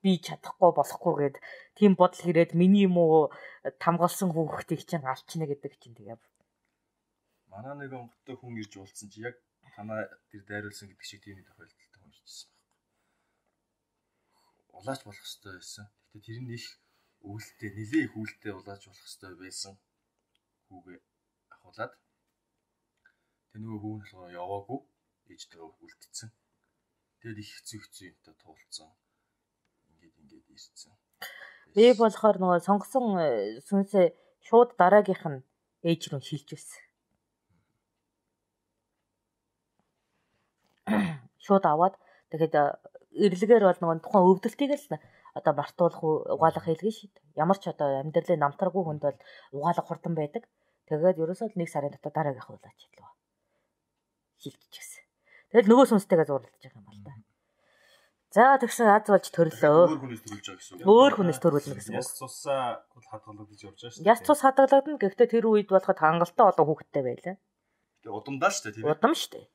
Би чадахгүй болохгүй гээд тийм бодол хэрээд миний юм уу тамгалсан хүүхдийг чинь алчна гэдэг чинь тэгээ. Манай нэг онгодтой хүн ирж уулзсан чи яг танаа тэр дайруулсан гэдэг шиг тийм тохиолдолтой уншижсэн байна. Улаач болох хэрэгтэй байсан. Гэтэ тэр нь их өвөлтэй, нэлээ их өвөлтэй улаач болох хэрэгтэй байсан. Хүүгээ ахуулаад тэр нөгөө хүү нь болохоор яваагүй. Ээжтэйгээ үлдсэн. Тэгээд их хэцүү юмтай туулцсан. Ингээд ирсэн. Би болохоор нөгөө сонгосон сүнсээ шууд дараагийнх нь ээж рүү шилжүүлсэн. Шууд аваад тэгэхэд эрлэгээр бол нөгөө тухайн өвдөлтийг л одоо мартуулах угаалгах хэлгэн шít. Ямар ч одоо амьдралын намтаргүй хүнд бол угаалгах хурдан байдаг. Тэгээд ерөөсөө л 1 сарын дотор дараагийнх улаач хэлвэ. Шилжчихсэн. Тэгэл нөгөө сүнстэйгээ зурлаж байгаа юм байна да. За тэгсэн аз болж төрлөө. Өөр хүнээс төрүүлж байгаа гэсэн үг. Өөр хүнээс төрүүлнэ гэсэн үг. Яс цусаа хадгалагдаж явж байгаа шүү дээ. Яс цус хадгалагдана. Гэхдээ тэр үед болоход хангалттай олон хүүхэдтэй байлаа. Тэгээ удамдаа шүү дээ тийм ээ. Удам шүү дээ.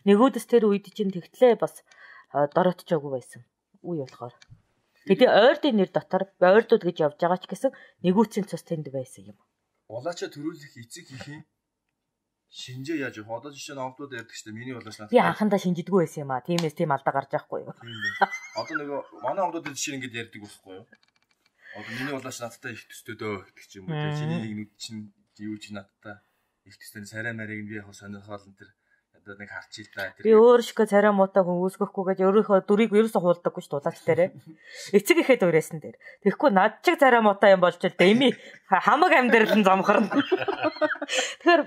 Нэгүүдс тэр үед чинь тэгтлээ бас дороотчоогүй байсан. Үе болохоор. Тэгээд ойрдын нэр дотор ойрдууд гэж явж байгаа ч гэсэн нэгүүдсийн цус тэнд байсан юм. Улаачаа төрүүлэх эцэг ихийн шинжээ яаж явах? Одоо жишээ нь онгодууд ярьдаг шүү дээ. Миний улаач надад. Би анхандаа шинжидгүй байсан юм аа. Тиймээс тийм алдаа гарч байхгүй юу? Одоо нөгөө манай онгодууд жишээ ингэж ярьдаг байхгүй юу? Одоо миний улаач надтай их төстэй дөө гэдэг ч юм уу. Чиний нэг нүд чинь юу ч надтай их төстэй сарай марийг би яг сонирхол энэ тэр одоо нэг харчил та тэр. Би өөр шигэ царай муутай хүн үүсгэхгүй гэж өөрийнхөө дүрийг ерөөсө хуулдаггүй шүү дээ улаач дээрээ. Эцэг ихэд өрөөсөн дээр. Тэгэхгүй над чиг царай муутай юм болж л дэми хамаг амьдрал нь замхарна. Тэгэхээр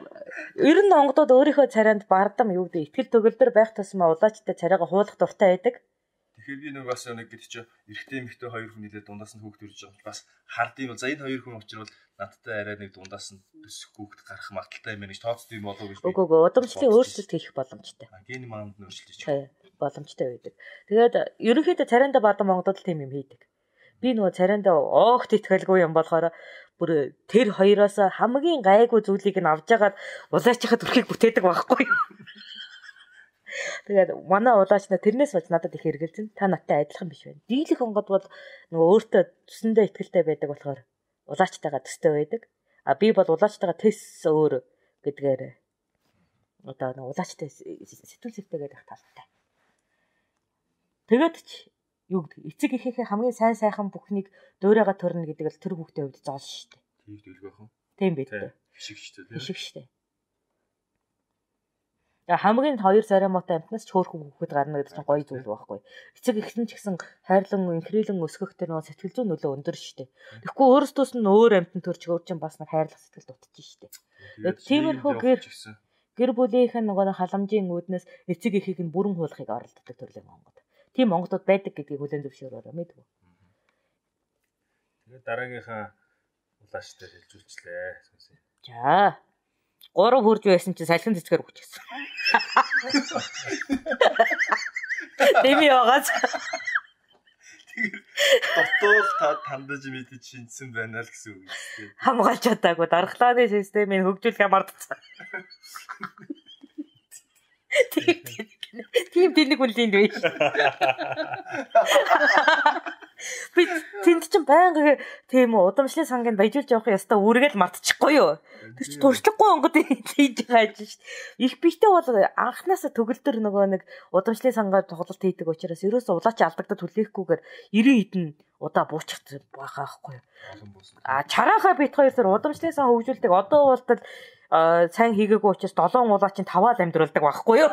ер нь онгодууд өөрийнхөө царайнд бардам юу гэдэг ихтгэл төгөлдөр байх тусмаа улаачтай царайгаа хуулах дуртай байдаг. Тэгэхээр би нэг бас нэг гэдэг чинь эрэгтэй эмэгтэй хоёр хүн нэлээд дундаас нь хүүхд төрж байгаа. Бас хардыг бол за энэ хоёр хүн учраас надтай арай нэг дундаас нь төсөх хүүхд гарах магадaltaй юм байна гэж тооцдог юм болов уу гэж. Үгүй удамшлын өөрчлөлт хийх боломжтой. Гений маанд нь өөрчлөлт хийж. Боломжтой байдаг. Тэгээд ерөнхийдөө царайндаа бардам онгодод тийм юм хийдэг. Би нөгөө царайндаа оогт итгэлгүй юм болохоор бүр тэр хоёроос хамгийн гайгүй зүйлийг нь авч ягаад улаачхад өрхийг бүтээдэг байхгүй юу? Тэгээд манай улаачна тэрнээс болж надад их хэргэлзэн. Та надтай адилхан биш байна. Дийлэх онгод бол нөгөө өөртөө төсөндөө итгэлтэй байдаг болохоор улаачтайгаа төстэй байдаг. А би бол улаачтайгаа тэс өөр гэдгээр одоо нөгөө улаачтай сэтгүүл зүйтэйгээд их талтай. Тэгээд ч юу гэдэг эцэг ихийнхээ хамгийн сайн сайхан бүхнийг дуурайгаа төрнө гэдэг л тэр хүүхдийн хувьд зоол шүү дээ. Тийм дэлгэх юм. Тийм бид. Хишиг шүү дээ. Хишиг шүү дээ. Тэгээ хамгийн хоёр царай муутай амтнаас ч хөөрхөн хүүхэд гарна гэдэг чинь гоё зүйл байхгүй. Эцэг эхлэн ч гэсэн хайрлан инхрийлэн өсгөх тэр нөө сэтгэл зүйн нөлөө өндөр шүү дээ. Тэгэхгүй өөрөөсөөс нь өөр амтан төрж өөр чинь бас нэг хайрлах сэтгэл дутчих шүү дээ. Тиймэрхүү гэр бүлийнх нь нөгөө халамжийн үүднээс эцэг эхийг нь бүрэн хуулахыг оролддог төрлийн онгод. Тийм онгодууд байдаг гэдгийг хүлээн зөвшөөрөөрэй мэдв үү? Тэгээд дараагийнхаа улааштай шилжүүлчлээ. За 3 хурж байсан чинь салхин цэцгээр хүчсэн. Дэмий байгаас. Дотоод та тандаж мэдэж шинжсэн байна л гэсэн үг юм. Хамгаалж чадаагүй дархлааны системийг хөгжүүлэх мартцсан. Тийм тэнэг үнэлэнд байж. Би тэнд чинь байнга тийм удамшлын сангийн баяжуулж явах ёстой үргээл мартчихгүй юу? Тэр чинь туршлагагүй онгод хийж байгаа шүү дээ. Их биштэй бол анханасаа төгөлдөр нөгөө нэг удамшлын сангаар тоглолт хийдэг учраас ерөөсөө улаач алдагдаад хүлээхгүйгээр 90 хэдэн удаа бууччих байгаа байхгүй юу? Чагаахаа бит хоёр сар удамшлын сан хөгжүүлдэг. Одоо бол сайн хийгээгүй учраас 7 улаач 5-аа амьдруулдаг байхгүй юу?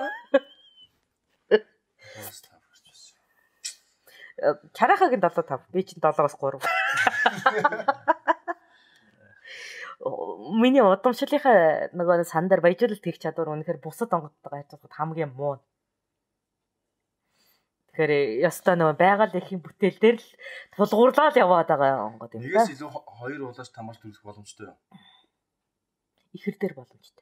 Чарахагийн 7-5. Би чинь 7-оос 3. Миний удамшлынхаа нөгөө сандар баяжуулалт хийх чадвар үнэхээр бусад онгодтойгоо харьцуулахад хамгийн муу. Тэгэхээр ёстой нөгөө байгаль эхийн бүтээл дээр л тулгуурлаад яваад байгаа онгод юм да. Нэгээс илүү 2 улаас тамарч төрөх боломжтой юу? Ихэр дээр боломжтой.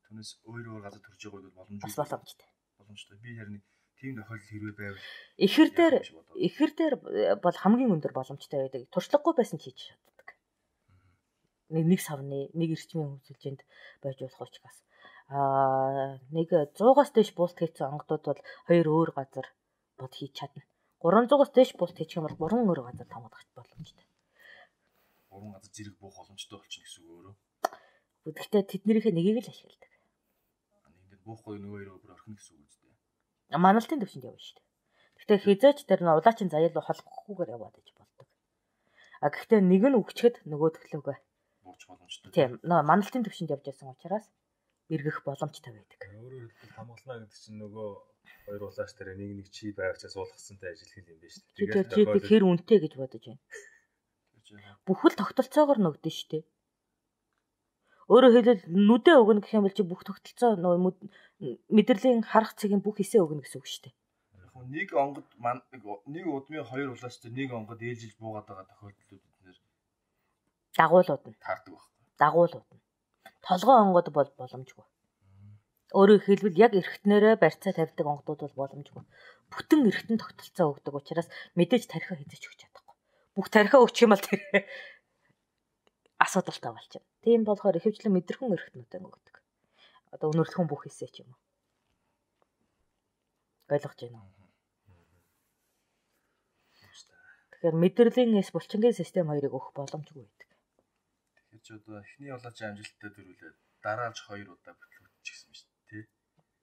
Түүнээс өөр газар төрж байгааг бол боломжтой. Бас боломжтой. Боломжтой. Би харин тийм тохиолдол хэрвээ байвал ихэр дээр бол хамгийн өндөр боломжтой байдаг. Туршлагагүй байсан ч хийж чаддаг. Нэг савны, нэг эрчмийн хөгжүүлжинд байж болох учраас. Нэг 100-аас дээш буулт хийсэн онгодууд бол 2 өөр газар бод хийж чадна. 300-аас дээш буулт хийх юм бол 3 өөр газар тамгадах боломжтой. 3 газар зэрэг буух боломжтой болчихно гэсэн үг өөрөө. Гэхдээ тэднийхээ нэгийг л ашигладаг. Нэгдээ буухгүй нөгөө хоёр өөр орхино гэсэн үг үстэй. Маналтын төвшөнд явна шүү дээ. Гэхдээ хизээч тэр нь улаачин заяал холбохгүйгээр яваад иж болдог. Гэхдээ нэг нь өгчгэд нөгөө төлөвгөө бууч боломжтой. Тийм. Маналтын төвшөнд явж байсан учраас эргэх боломжтой байдаг. Өөрөөр хэлбэл хамгаална гэдэг чинь нөгөө хоёр улааш дээр нэг чи байвчаа суулгасантай ажиллах юм байна шүү дээ. Тэгээд хэр үнэтэй гэж бодож байна. Бүхэл тогтолцоогоор нөгдөн шүү дээ. Өөрөөр хэлбэл нүдэ өгнө гэх юм бол чи бүх тогтолцоо нөгөө мэдрэлийн харах цагийн бүх хэсээ өгнө гэсэн үг шүү дээ. Нэг онгод нэг удмын 2 улаас дээр нэг онгод ээлжилж буугаад байгаа тохиолдлууд эднэр дагуулууд нь таардаг байхгүй. Дагуулууд нь толгой онгод бол боломжгүй. Өөрөөр хэлбэл яг эргэтнэрээ барьцаа тавьдаг онгодууд бол боломжгүй. Бүтэн эргэтэн тогтолцоо өгдөг учраас мэдээж тархиа хязгаарч өгч чадахгүй. Бүх тархиа өгчих юм бол тэр асуудалтай болчихно. Тийм болохоор ихэвчлэн мэдрэхэн эргэтнүүдээ өгдөг. Одоо өнөрлөхөн бүх хэсээ ч юм уу. Ойлгож байна уу? Тэгэхээр мэдрэлийн булчингийн систем хоёрыг өгөх боломжгүй байдаг. Тэгэхээр ч одоо эхний улаач амжилттай дөрвөлээ дараалж 2 удаа бүтлгүүчихсэн шүү дээ, тий.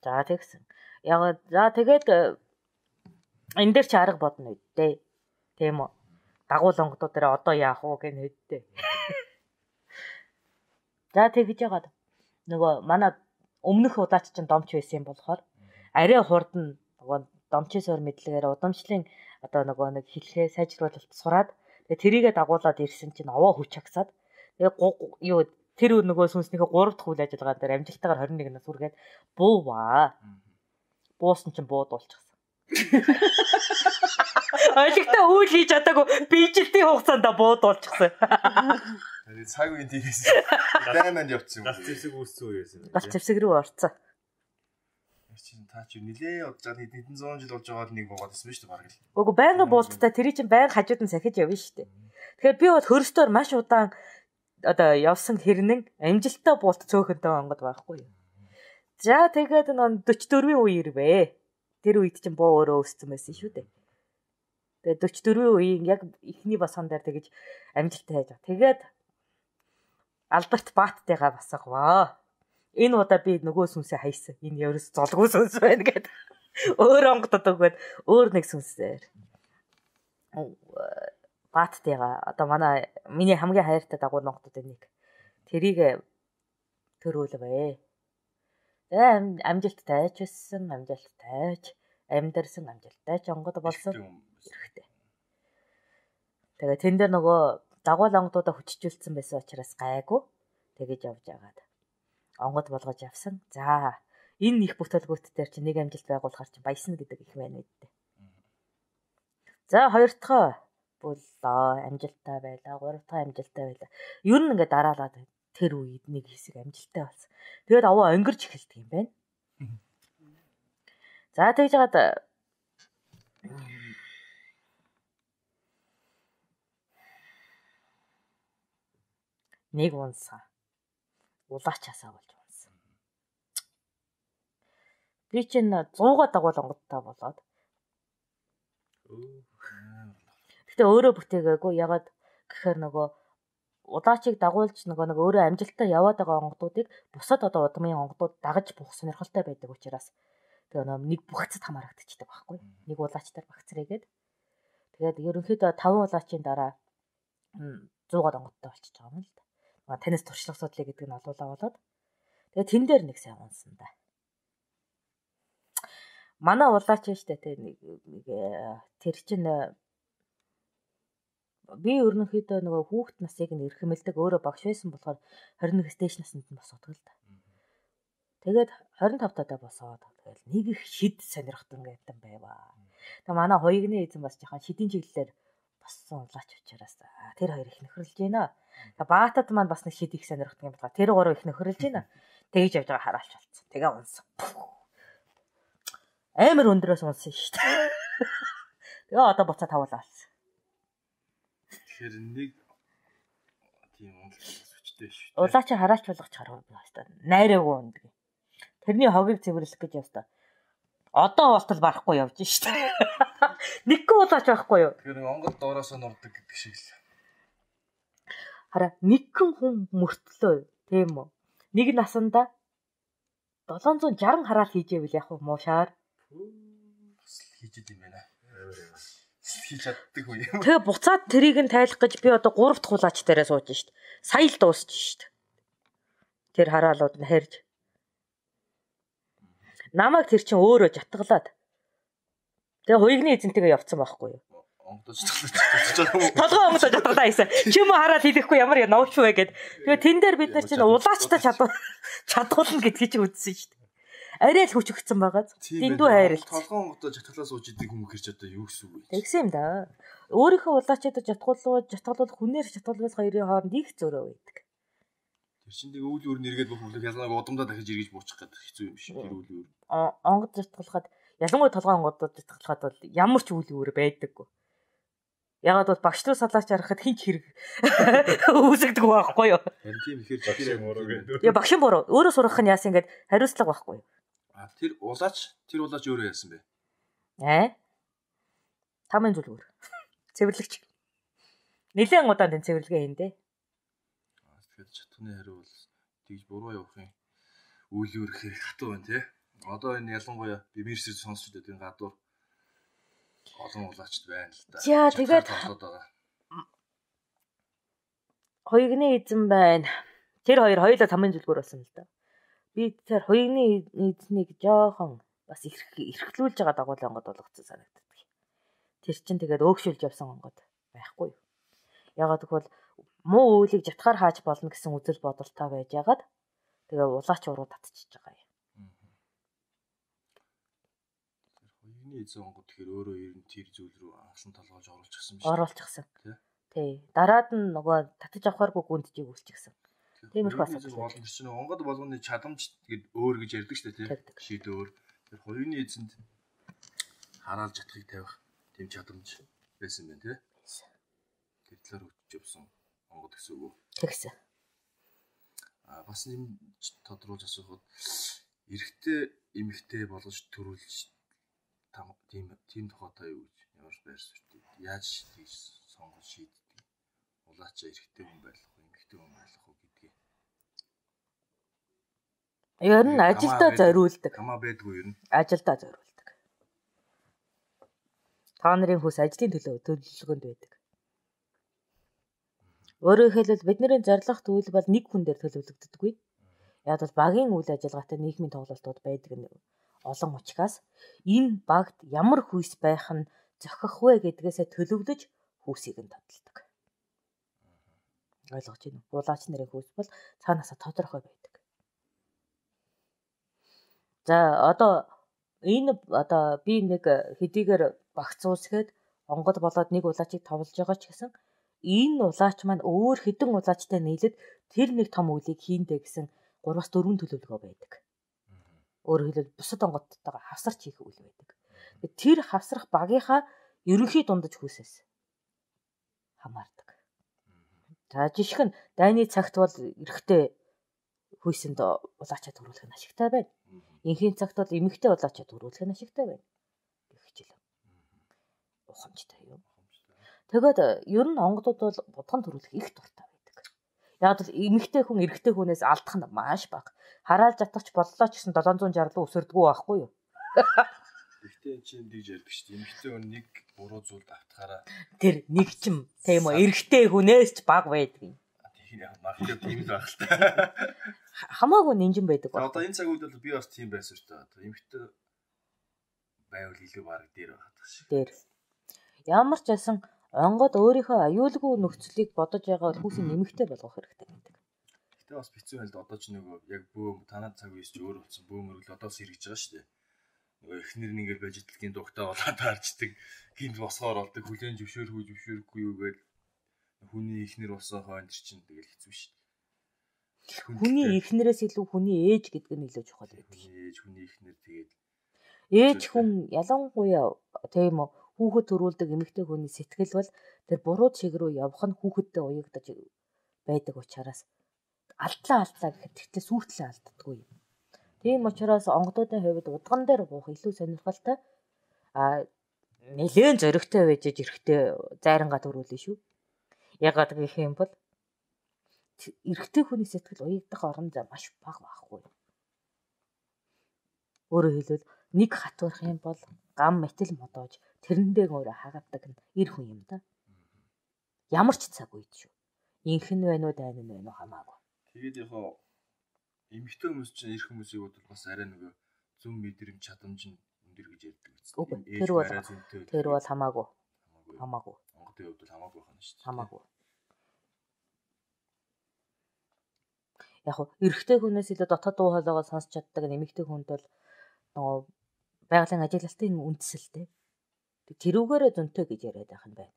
За тэгсэн. Яг тэгээд энэ дээр ч арга бодно үедээ. Тийм үү? Дагуул онгодууд дээр одоо яах вэ гэх нэдтэй. За тэгж яагаад нөгөө манай өмнөх удаач чинь домч байсан юм болохоор арай хурдан нөгөө домчийн суур мэдлэгээр удамшлын одоо нөгөө нэг хэлхээ сайжруулалт сураад тэгээ тэрийгэ дагуулад ирсэн чинь овоо хүч хагсаад тэгээ юу тэр нөгөө сүнснийхээ 3 дахь үйл ажиллагаа дээр амжилттайгаар 21-наас үргээд бууваа. Буусан чинь буудуулчихсан. Ойлгохтой үйл хийж чадаагүй биежилтийн хугацаанд буудуулчихсан. Цаг үеийн тийгээс дайманд явцсан юм. Галт зэвсэг үүссэн үе байсан. Галт зэвсэг рүү орцсон. Чи та чи нилээ удаж хэдэн зуун жил болж байгаа нэг буугаад байсан шүү дээ баг л. Үгүй байнга буулттай тэр чинь байнга хажууд нь сахиж явна шүү дээ. Тэгэхээр би бол хөрстөөр маш удаан одоо явсан хэрнэн амжилттай буулт цөөхөнтэй онгод байхгүй юу. За тэгээд 44-ийн үе ирвэ. Тэр үед чинь буу өөрөө өссөн байсан шүү дээ. Тэгээд 44-ийн үеийн яг ихний босгон дээр тэгэж амжилттай хайж байгаа. Тэгээд Альберт Баттайгаа басгаваа. Энэ удаа би нөгөө сүнсээ хайсан. Энэ ерөөс золгүй сүнс байна гэдэг. Өөр онгодод өгөөд өөр нэг сүнсээр. Баттайгаа одоо миний хамгийн хайртай дагуул онгодод нэг. Тэрийг төрүүлвэ. Амжилттай ч байсан, амжилттай ч амьдэрсэн, амжилттай ч онгод болсон хэрэгтэй. Тэгээ тэн дээр нөгөө дагуул онгодуудаа хүчжүүлсэн байсан учраас гайгүй тэгэж явж агаад онгод болгож явсан. За энэ их бүтэлгүүт дээр чи нэг амжилт байгуулахар чи баясна гэдэг их байна үү дээ. За хоёр дахь боллоо. Амжилттай байлаа. 3 дахь амжилттай байлаа. Ер нь ингээд дараалаад тэр үед нэг хэсэг амжилттай болсон. Тэгээд аваа өнгөрч эхэлдэг юм байна. За тэгж жагаад нэг унсан. Улаачаасаа болж унсан. Би чинь 100-аа дагуул онгодтой болоод. Гэтэ өөрөө бүтээгээгүй. Ягаад гэхээр нөгөө улаачийг дагуулж нөгөө өөрөө амжилттай яваад байгаа онгодуудыг бусад одоо удмын онгодууд дагаж буух сонирхолтой байдаг учраас тэгээ нэг бүгцэд хамаарагдчихдаг байхгүй. Нэг улаачтаар багцрээгээд. Тэгээд ерөнхийдөө 5 улаачийн дараа 100-аад онгодтой болчихж байгаа юм л да. Танаас туршлага судлаа гэдэг нь олуулаа болоод. Тэгээд тэн дээр нэг сайн унсан да. Манай улаач нь штэ тэр нэг тэр чинь би ерөнхийдөө нөгөө хүүхэд насыг нь эрхэмэлдэг өөрөө багш байсан болохоор 21 стэйш наснд нь босоод л да. Тэгээд 25 тадаа босоод тэгэл нэг их шид сонирхтон гэдэг байваа. Тэгээ манай хоёрны эзэн бас жоохон шидийн чиглэлээр боссон улаач учраас тэр хоёр их нөхөрлж байна. Тэгээ баатад маань бас нэг шид их сонирхтон юм байна. Тэр гурав их нөхөрлж байна. Тэгж явж байгаа хараалч болсон. Тэгээ унсан. Амар өндрөөс унсан шүү дээ. Тэгээ одоо буцаа тавуулаа. Тэгэхээр нэг тийм үнэлгээтэй шүү дээ. Улаачаа хараалч болгоч харах байна. Найраагүй үндэг. Тэрний хогийг цэвэрлэх гэж явста. Одоо болтол барахгүй явж шүү дээ. Нэггүй улаач байхгүй юу? Тэгэхээр онгод доороосоо нурдаг гэдэг шиг л. Хараа нэгэн хүн мөртлөө тийм үү? Нэг насанда 760 хараал хийжээвэл яг муушаар бас хийж идэм байна. Хийж чаддаг үе юм. Тэгээ буцаад тэрийг нь тайлах гэж би одоо 3 дахь улаач дээрээ сууж шít. Сая л дуусч шít. Тэр хараалууд нь харьж. Намайг тэр чинь өөрөө жатгалаад. Тэгээ хоёрны эзэнтэйгээ явцсан байхгүй юу? Онгодож жатгалаад. Толгой онгодож жатгалаа гэсэн. Чи юм хараал хийхгүй ямар я новч вэ гэд. Тэгээ тэн дээр бид нар чинь улаачтай чадуулна гэдгийг чи үзсэн шít. Арай л хүч өгцөн байгаа. Дэндүү хайрлт. Толгой онгодож жатгалаа сууж идэг хүмүүс хэрч одоо юу гэсэн үг вэ? Тэгсэн юм да. Өөрийнхөө улаачаад жатгалуулах хүнээр жатгалуулах хоёрын хооронд их зөрөө байдаг. Тэр чинь нэг үйл өөр нэргээд бүх бүлэг ялгааг удамдаа дахиж эргэж буучих гэдэг хэцүү юм шиг. Тэр үйл өөр. Онгод жатгалахад ялангуяа толгой онгодод жатгалахад бол ямар ч үйл өөр байдаггүй. Ягаад бол багш руу салаач харахад хинч хэрэг үүсгдэг байхгүй юу? Тийм ихээр жишээ мөрөө гэдэг. Яа багшин буруу. Өөрөө сурах нь яасан ингээд хариуцлага байхгүй юу? Тэр улаач өөрөө яасан бэ? Тамын зүлгүүр. Цэвэрлэгч. Нилээн удаан тэн цэвэрлэгээ хийн дээ. Тэгэхээр чатганы хариу бол тэгж буруу явахын үйл өөр хэрэг хатуу байна тий. Одоо энэ ялангуяа бимэрсэр сонсч байгаа гадуур олон улаачд байна л да. За тэгээд хоёрны эзэн байна. Тэр хоёр хоёулаа тамын зүлгүүр болсон л да. Би тэр хоёрны эзнийг жоохон бас эрхлүүлж байгаа дагуулын онгод болгоцсон санагддаг. Тэр чинь тэгээд өөгшүүлж явсан онгод байхгүй юу? Ягаад гэвэл муу үйлийг жатгаар хааж болно гэсэн үзэл бодолтой байж ягаад тэгээ улаач уруу татчихж байгаа юм. Хоёрны эзэн онгод тэгэхээр өөрөө ер нь тэр зүйл рүү анхлан толгойж оруулчихсан биш. Оруулчихсан. Тий. Дараад нь нөгөө татаж авахааргүй гүндчийг үүсчихсэн. Тиймэрхүү асуудал. Олон чинь онгод болгоны чадамж гээд өөр гэж ярьдаг шүү дээ тий. Шийд өөр. Тэр хоёрны эзэнд хараалж жатахыг тавих тийм чадамж байсан байна тий. Тэр талаар өгч явсан онгод гэсэн үг үү? Тэгсэн. Бас нэм тодруулж асуухад эрэгтэй эмэгтэй болгож төрүүлж тийм тохиолдол юу гэж ямар байр суурь яаж тийж сонгож шийддэг? Улаачаа эрэгтэй хүн байх уу, эмэгтэй хүн байх уу гэдгийг. Ер нь ажилдаа зориулдаг. Хамаа байдгүй ер нь. Ажилдаа зориулдаг. Та нарын хүс ажлын төлөвлөгөөнд байдаг. Өөрөөр хэлбэл бидний зорилго зүйл бол нэг хүн дээр төлөвлөгддөггүй. Яг бол багийн үйл ажиллагаатай нийгмийн тоглолтууд байдаг нь олон учраас энэ багт ямар хүйс байх нь зохих вэ гэдгээсээ төлөвлөж хүйсийг нь тодорхойлдог. Ойлгож байна уу? Улаач нарын хүйс бол цаанаасаа тодорхой байдаг. За одоо би нэг хэдийгээр багц уусгээд онгод болоод нэг улаачийг товлж байгаа ч гэсэн энэ улаач маань өөр хэдэн улаачтай нийлээд тэр нэг том үлийг хийндэ гэсэн 3-4 төлөвлөгөө байдаг. Өөрөөр хэлбэл бусад онгодтойгоо хавсарч хийх үйл байдаг. Тэр хавсрах багийнхаа ерөнхий дундаж хүсээс хамаардаг. За жишг нь дайны цагт бол эрэгтэй хүйсэнд улаачаа төрүүлэх нь ашигтай байна. Инхийн цагт бол эмэгтэй улаачаа төрүүлэх нь ашигтай байна. Гэх хичээл. Ухамжтай юу? Тэгээд ер нь онгодууд бол будган төрүүлэх их дуртай байдаг. Яг л эмэгтэй хүн эрэгтэй хүнээс алдах нь маш бага. Хараалж атгач боллоо ч гэсэн 760 руу өсөрдгөө байхгүй юу? Гэхдээ энэ чинь диж ярьдаг шүү дээ. Эмэгтэй хүн нэг буруу зүйл давтахаараа тэр нэг ч юм тийм үү эрэгтэй хүнээс ч бага байдаг юм. тийм яг магадгүй тийм л байх л та. Хамаагүй нинжин байдаг ба. Одоо энэ цаг үед бол би бас тийм байсан шүү дээ. Одоо эмэгтэй байвал илүү баг дээр байгаа шиг. Дээр. Ямар ч байсан онгод өөрийнхөө аюулгүй нөхцөлийг бодож байгаа хүүсийн нэмэгтэй болгох хэрэгтэй гэдэг. Гэтэ бас бицүү байл одоо ч нөгөө яг бөөм танаа цаг үеэс ч өөр болсон бөөмөрөл одоо сэргэж байгаа шүү дээ. Нөгөө эхнэр нь ингээл байж итлгийн дугтаа болоод харждаг. Гинт босгоор болдог хүлэн зөвшөөрөхгүй юу гээл хүний эхнэр болсон хойно чинь тэгэл хэцүү шүү дээ. Хүний эхнэрээс илүү хүний ээж гэдэг нь илүү чухал байдаг. Ээж хүний эхнэр тэгээд ээж хүн ялангуяа тийм үү хүүхэд төрүүлдэг эмэгтэй хүний сэтгэл бол тэр буруу чиг рүү явах нь хүүхэдтэй уягдаж байдаг учраас алдлаа гэхэд тэгтээ сүйтлээ алддаггүй юм. Тийм учраас онгодуудын хувьд удган дээр буух илүү сонирхолтой нэлээд зоригтой байж эрэхтэй зайрангаа төрүүлнэ шүү. Ягаад гэх юм бол эрэхтэй хүний сэтгэл уягдах орон зай маш бага байхгүй. Өөрөөр хэлбэл нэг хатварх юм бол гам метал модоож тэрэндээ өөрөө хагадаг нь эр хүн юм да. Ямар ч цаг үед шүү. Инхэн вэ нүү дайн нь вэ нүү хамаагүй. Тэгээд яг эмэгтэй хүмүүс чинь эр хүмүүсийг бол бас арай нөгөө зөв мэдрэмж чадамж нь өндөр гэж ярьдаг үстэй. Тэр бол хамаагүй. Онгодын хувьд бол хамаагүй байна шүү дээ. Хамаагүй. Яг эрэгтэй хүнээс илүү дотоод дуу хоолойгоо сонсч чаддаг эмэгтэй хүнд бол нөгөө байгалийн ажиглалтын үндсэлтэй. Тэрүүгээрээ зөнтэй гэж яриад байх юм байна.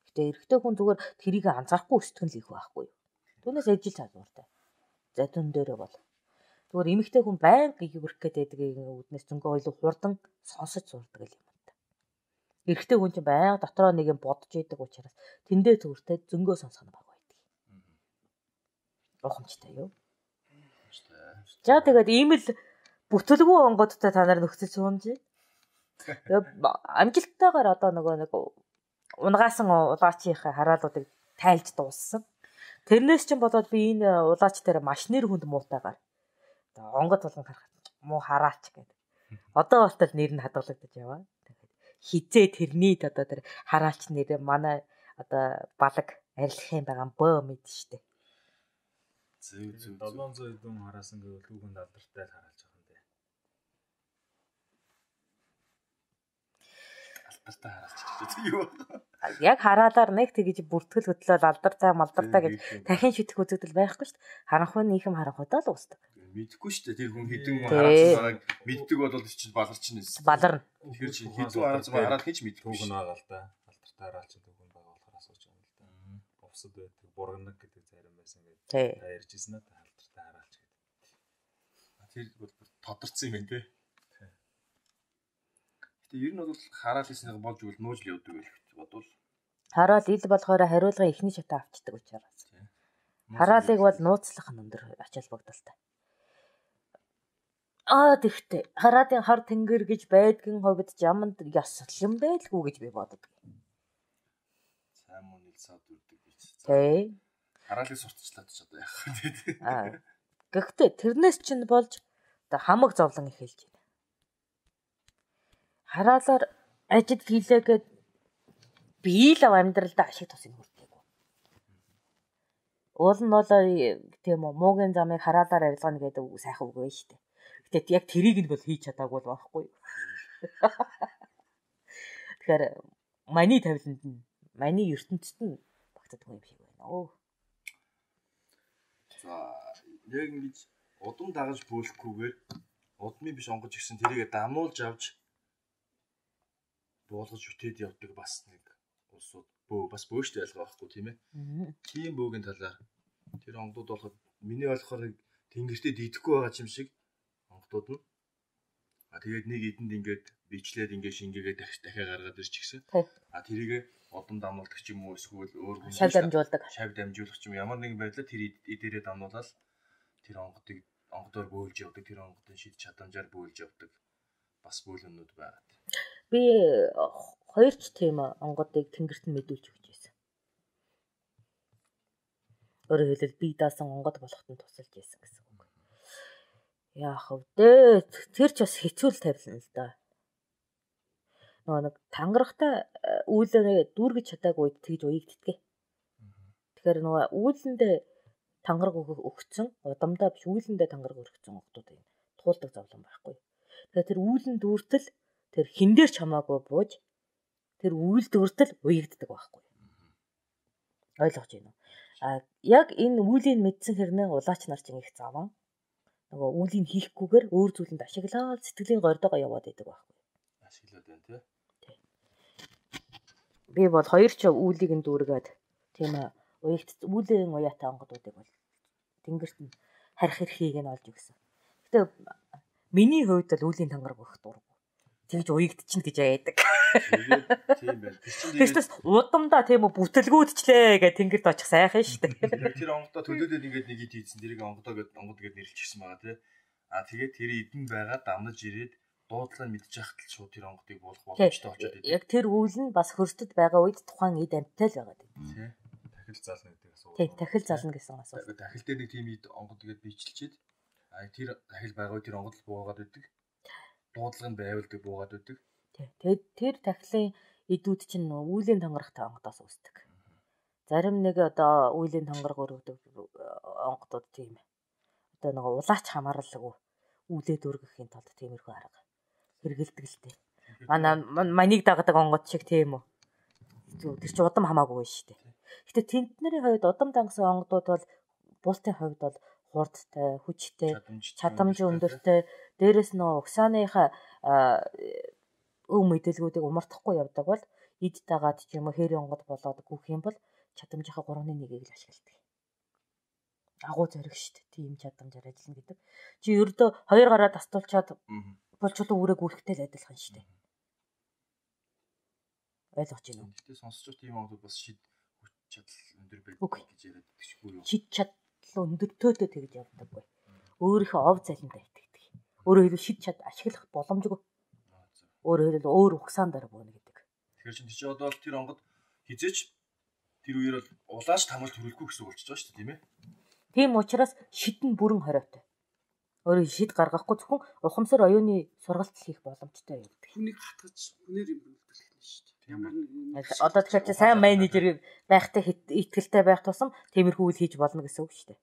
Гэтэ эрэгтэй хүн зүгээр тэрийг анзаарахгүй өсдгөн л их байхгүй юу. Түүнээс ижил чадвартай. За түн дээрээ бол. Зүгээр эмэгтэй хүн байнга гүйрэх гэдэг үүднээс зөнгөө ойлоо хурдан сонсож сурдаг юм байна. Эрэгтэй хүн чинь байнга дотроо нэг юм бодож идэг учраас тэндээ зүгээртэй зөнгөө сонсох нь баг байдаг. Ухамжтай юу? За тэгээд ийм л бүтэлгүй онгодтой та нар нөхцөл суунж. Амжилттайгаар одоо нэг унгаасан улаачийнхаа хараалуудыг тайлж дууссан. Тэрнээс ч болоод би энэ улаач дээр маш нэр хүнд муутайгаар онгод болгон харахад муу хараач гэдэг. Одоо болтол нэр нь хадгалагдаж яваа. Тэгээд хизээ тэрний одоо тэр хараач нэр манай одоо балаг арилгах юм байгаа бөө мэд штэ. Зөв 700 хэдэн хараасан гэвэл хүүхэнд алдартай л хараалж байгаа юм дээ. Алдартай хараалж байгаа юу? Яг хараалаар нэг тэгж бүртгэл хөдлөөл алдартай малдартай гэж дахин шитгэх үзэгдэл байхгүй шүү дээ. Харанхуй нийхэм харанхуйдаа л уусдаг. Мэдхгүй шүү дээ. Тэр хүн хэдэн хараалсан байгааг мэддэг бол чинь баларч нь. Баларна. Тэгэхээр чи хэдэн хараалсан байгааг хийж мэдгүй шүү. Хүүхэн байгаа л да. Алдартай хараалч хүүхэн байгаа болохоор асууж байгаа юм л да. Увсад байдаг, бурганаг гэдэг зарим байсан гэдэг. Та ярьжсэн надад алдартай хараалч гэдэг. Тэр бол тодорцсон юм байна те. Гэтэ ер нь бол хараалсныг болж өгөл нууж л явдаг гэж бодвол. Хараал ил болохоор хариулгын эхний шатаа авчдаг учраас. Хараалыг бол нууцлах нь өндөр ач холбогдолтой. Тэгтээ хараалын хар тэнгэр гэж байдгийн хувьд яманд ёслон байлгүй гэж би боддог. Сайн мөн ил саад үрдэг гэж. Тэ. Хараалыг сурталчлаад ч одоо яах вэ? Гэхдээ тэрнээс чинь болж одоо хамаг зовлон эхэлж байна. Хараалаар ажил хийлээгээд би л амьдралдаа ашиг тусыг хүртээгүй. Уул нь бол тийм үү муугийн замыг хараалаар арилгана гэдэг сайхан үг байна шүү дээ. Гэтэ яг тэрийг нь бол хийж чадаагүй л байхгүй юу. Тэгэхээр маний тавиланд нь маний ертөнцид нь багтдаг юм шиг байна. За яг ингэж удам дагаж бөөлөхгүйгээр удмын биш онгож гисэн тэрийгэ дамуулж авч буулгаж үтээд явдаг бас нэг улсууд бас бөөштэй ялгаа байхгүй тийм ээ. Тийм бөөгийн талаар тэр онгодууд болоход миний болохоор тэнгэртээ дидэхгүй байгаа юм шиг онгодууд нь. Тэгээд нэг эдэнд ингээд бичлээд ингээд шингээгээ дахиад гаргаад ирч гисэн. Тэрийг одон дамнуулдаг ч юм уу эсвэл өөр хүн шав дамжуулах ч юм ямар нэгэн байдлаар тэр эдээрээ дамнуулаад тэр онгодоор бөөлж явдаг, тэр онгодын шид чадамжаар бөөлж явдаг бас бөөлөнүүд байгаа. Би хоёрч тийм онгодыг тэнгэрт нь мэдүүлж өгч байсан. Өөрөөр хэлбэл би даасан онгод болоход нь тусалж байсан гэсэн үг. Яах вэ? Тэр ч бас хэцүү л тавилна л да. Нэг тангарахтай үүлээ дүүргэж чадаагүй үед тэгж уягддгээ. Тэгэхээр нөгөө үүлэндээ тангараг өгсөн, удамдаа биш үүлэндээ тангараг өргөцсөн онгодууд юм. Туулдаг зовлон байхгүй. Тэгэхээр тэр үүлэн дүүртэл тэр хин дээр ч хамаагүй бууж тэр үйл дүүртэл уягддаг байхгүй. Ойлгож байна уу? Яг энэ үүлийн мэдсэн хэрнээ улаач нар чинь их заван. Нөгөө үүлийг хийхгүйгээр өөр зүйлэнд ашиглаад сэтгэлийн гордоогоо яваад идэг байхгүй. Ашиглаад байна тий. Би бол хоёр ч үүлийг нь дүүргээд тийм үүлийн уяатай онгодуудыг бол тэнгэрт нь харих эрхийг нь олж өгсөн. Гэтэ миний хувьд бол үүлийн тангараг өгөх дурггүй. Тэгж уягдчихна гэж яадаг. Тийм байна. Тэгээс удамдаа тийм үү бүтэлгүүдчлээ гэх тэнгэрт очих сайхан шүү дээ. Тэр онгодоо төлөөлөд ингээд нэг ид хийсэн. Тэрийг онгод гэд нэрлчихсэн байгаа тий. Тэгээд тэр эдэн байгаа дамнаж ирээд дуудлаа мэдчих хатал шууд тэр онгодыг буулах боломжтой болчиход идэв. Яг тэр үйл нь бас хөрсдөд байгаа үед тухайн эд амттай л байгаа тий. Дахил зална гэдэг асуулт. Тийм, дахил зална гэсэн асуулт. Дахил дээр нэг тийм ид онгод гэд бичилчихэд тэр дахил байгаа үед тэр онгод л буугаад идэг. Дуудлага нь байвалдаг буугаад идэг. Тэгээд тэр дахилын идүүд чинь үүлийн тангарахтай онгодоос үүсдэг. Зарим нэг одоо үүлийн тангараг өргөдөг онгодууд тийм. Одоо нэг улаач хамааралгүй үүлээд өргөхийн тулд тиймэрхүү арга хэрэгэлдэг л дээ. Манийг дагдаг онгод шиг тийм үү. Тэр чинь удам хамаагүй шүү дээ. Гэтэ тентнэрийн хувьд удам дангасан онгодууд бол буултын хувьд бол хурдтай, хүчтэй, чадамж өндөртэй, дээрэс нь угсааныхаа өв мэдээлгүүдийг умартахгүй явдаг бол эд дагаад ч юм уу хээрийн онгод болоод гүөх юм бол чадамжийнхаа 3/1-ийг л ашигладаг. Агуу зориг шүү дээ. Тийм чадамжаар ажиллана гэдэг. Чи ердөө хоёр гараа тастуулчаад болчулуу үрээ гүрэхтэй л адилхан шүү дээ. Ойлгож байна уу? Гэтэ сонсож тийм онгод бас шид хүч чадал өндөр байдаг гэж яриад тэгшгүй юу? Шид чадал өндөртөөдөө тэгж явдаггүй. Өөрийнхөө ов залиндаа итгэдэг. Өөрөөр хэлбэл шид чад ашиглах боломжгүй. Өөрөөр хэлбэл өөр угсаан дараа бууна гэдэг. Тэгэхээр чи одоо тэр онгод хизээч тэр үеэр бол улааш тамал төрөлгүй гэсэн үг болчихж байгаа шүү дээ тийм ээ. Тийм учраас шид нь бүрэн хориотой. Өөрөөр шид гаргахгүй зөвхөн ухамсар оюуны сургалт хийх боломжтой юм. Хүнийг хатгаж хүнээр юм бэлдүүлэх нь шүү дээ. Ямар нэг одоо тэгэхээр чи сайн менежер байхтай итгэлтэй байх тусам тиймэрхүү үйл хийж болно гэсэн үг шүү дээ.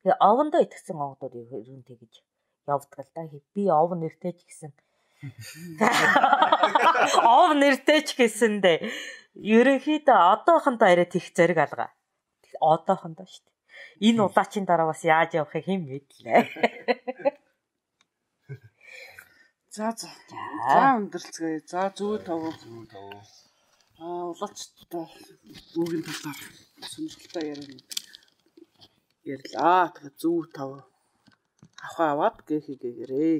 Тэгээ овондоо итгэсэн онгодууд ер нь тэгэж явдаг л да. Би ов нэртэй ч гэсэн ов нэртэй ч гэсэндээ ерөнхийдөө одоохондоо арай тех зэрэг алгаа. Одоохондоо шүү дээ. Энэ улаачийн дараа бас яаж явахыг хэн мэдлээ. За өндөрлцгээе. За зүү тав. Улаачтай үүгийн талаар сонирхолтой ярьлаа. Тэгэхээр зүү тав. Аваад гэхийгээрээ.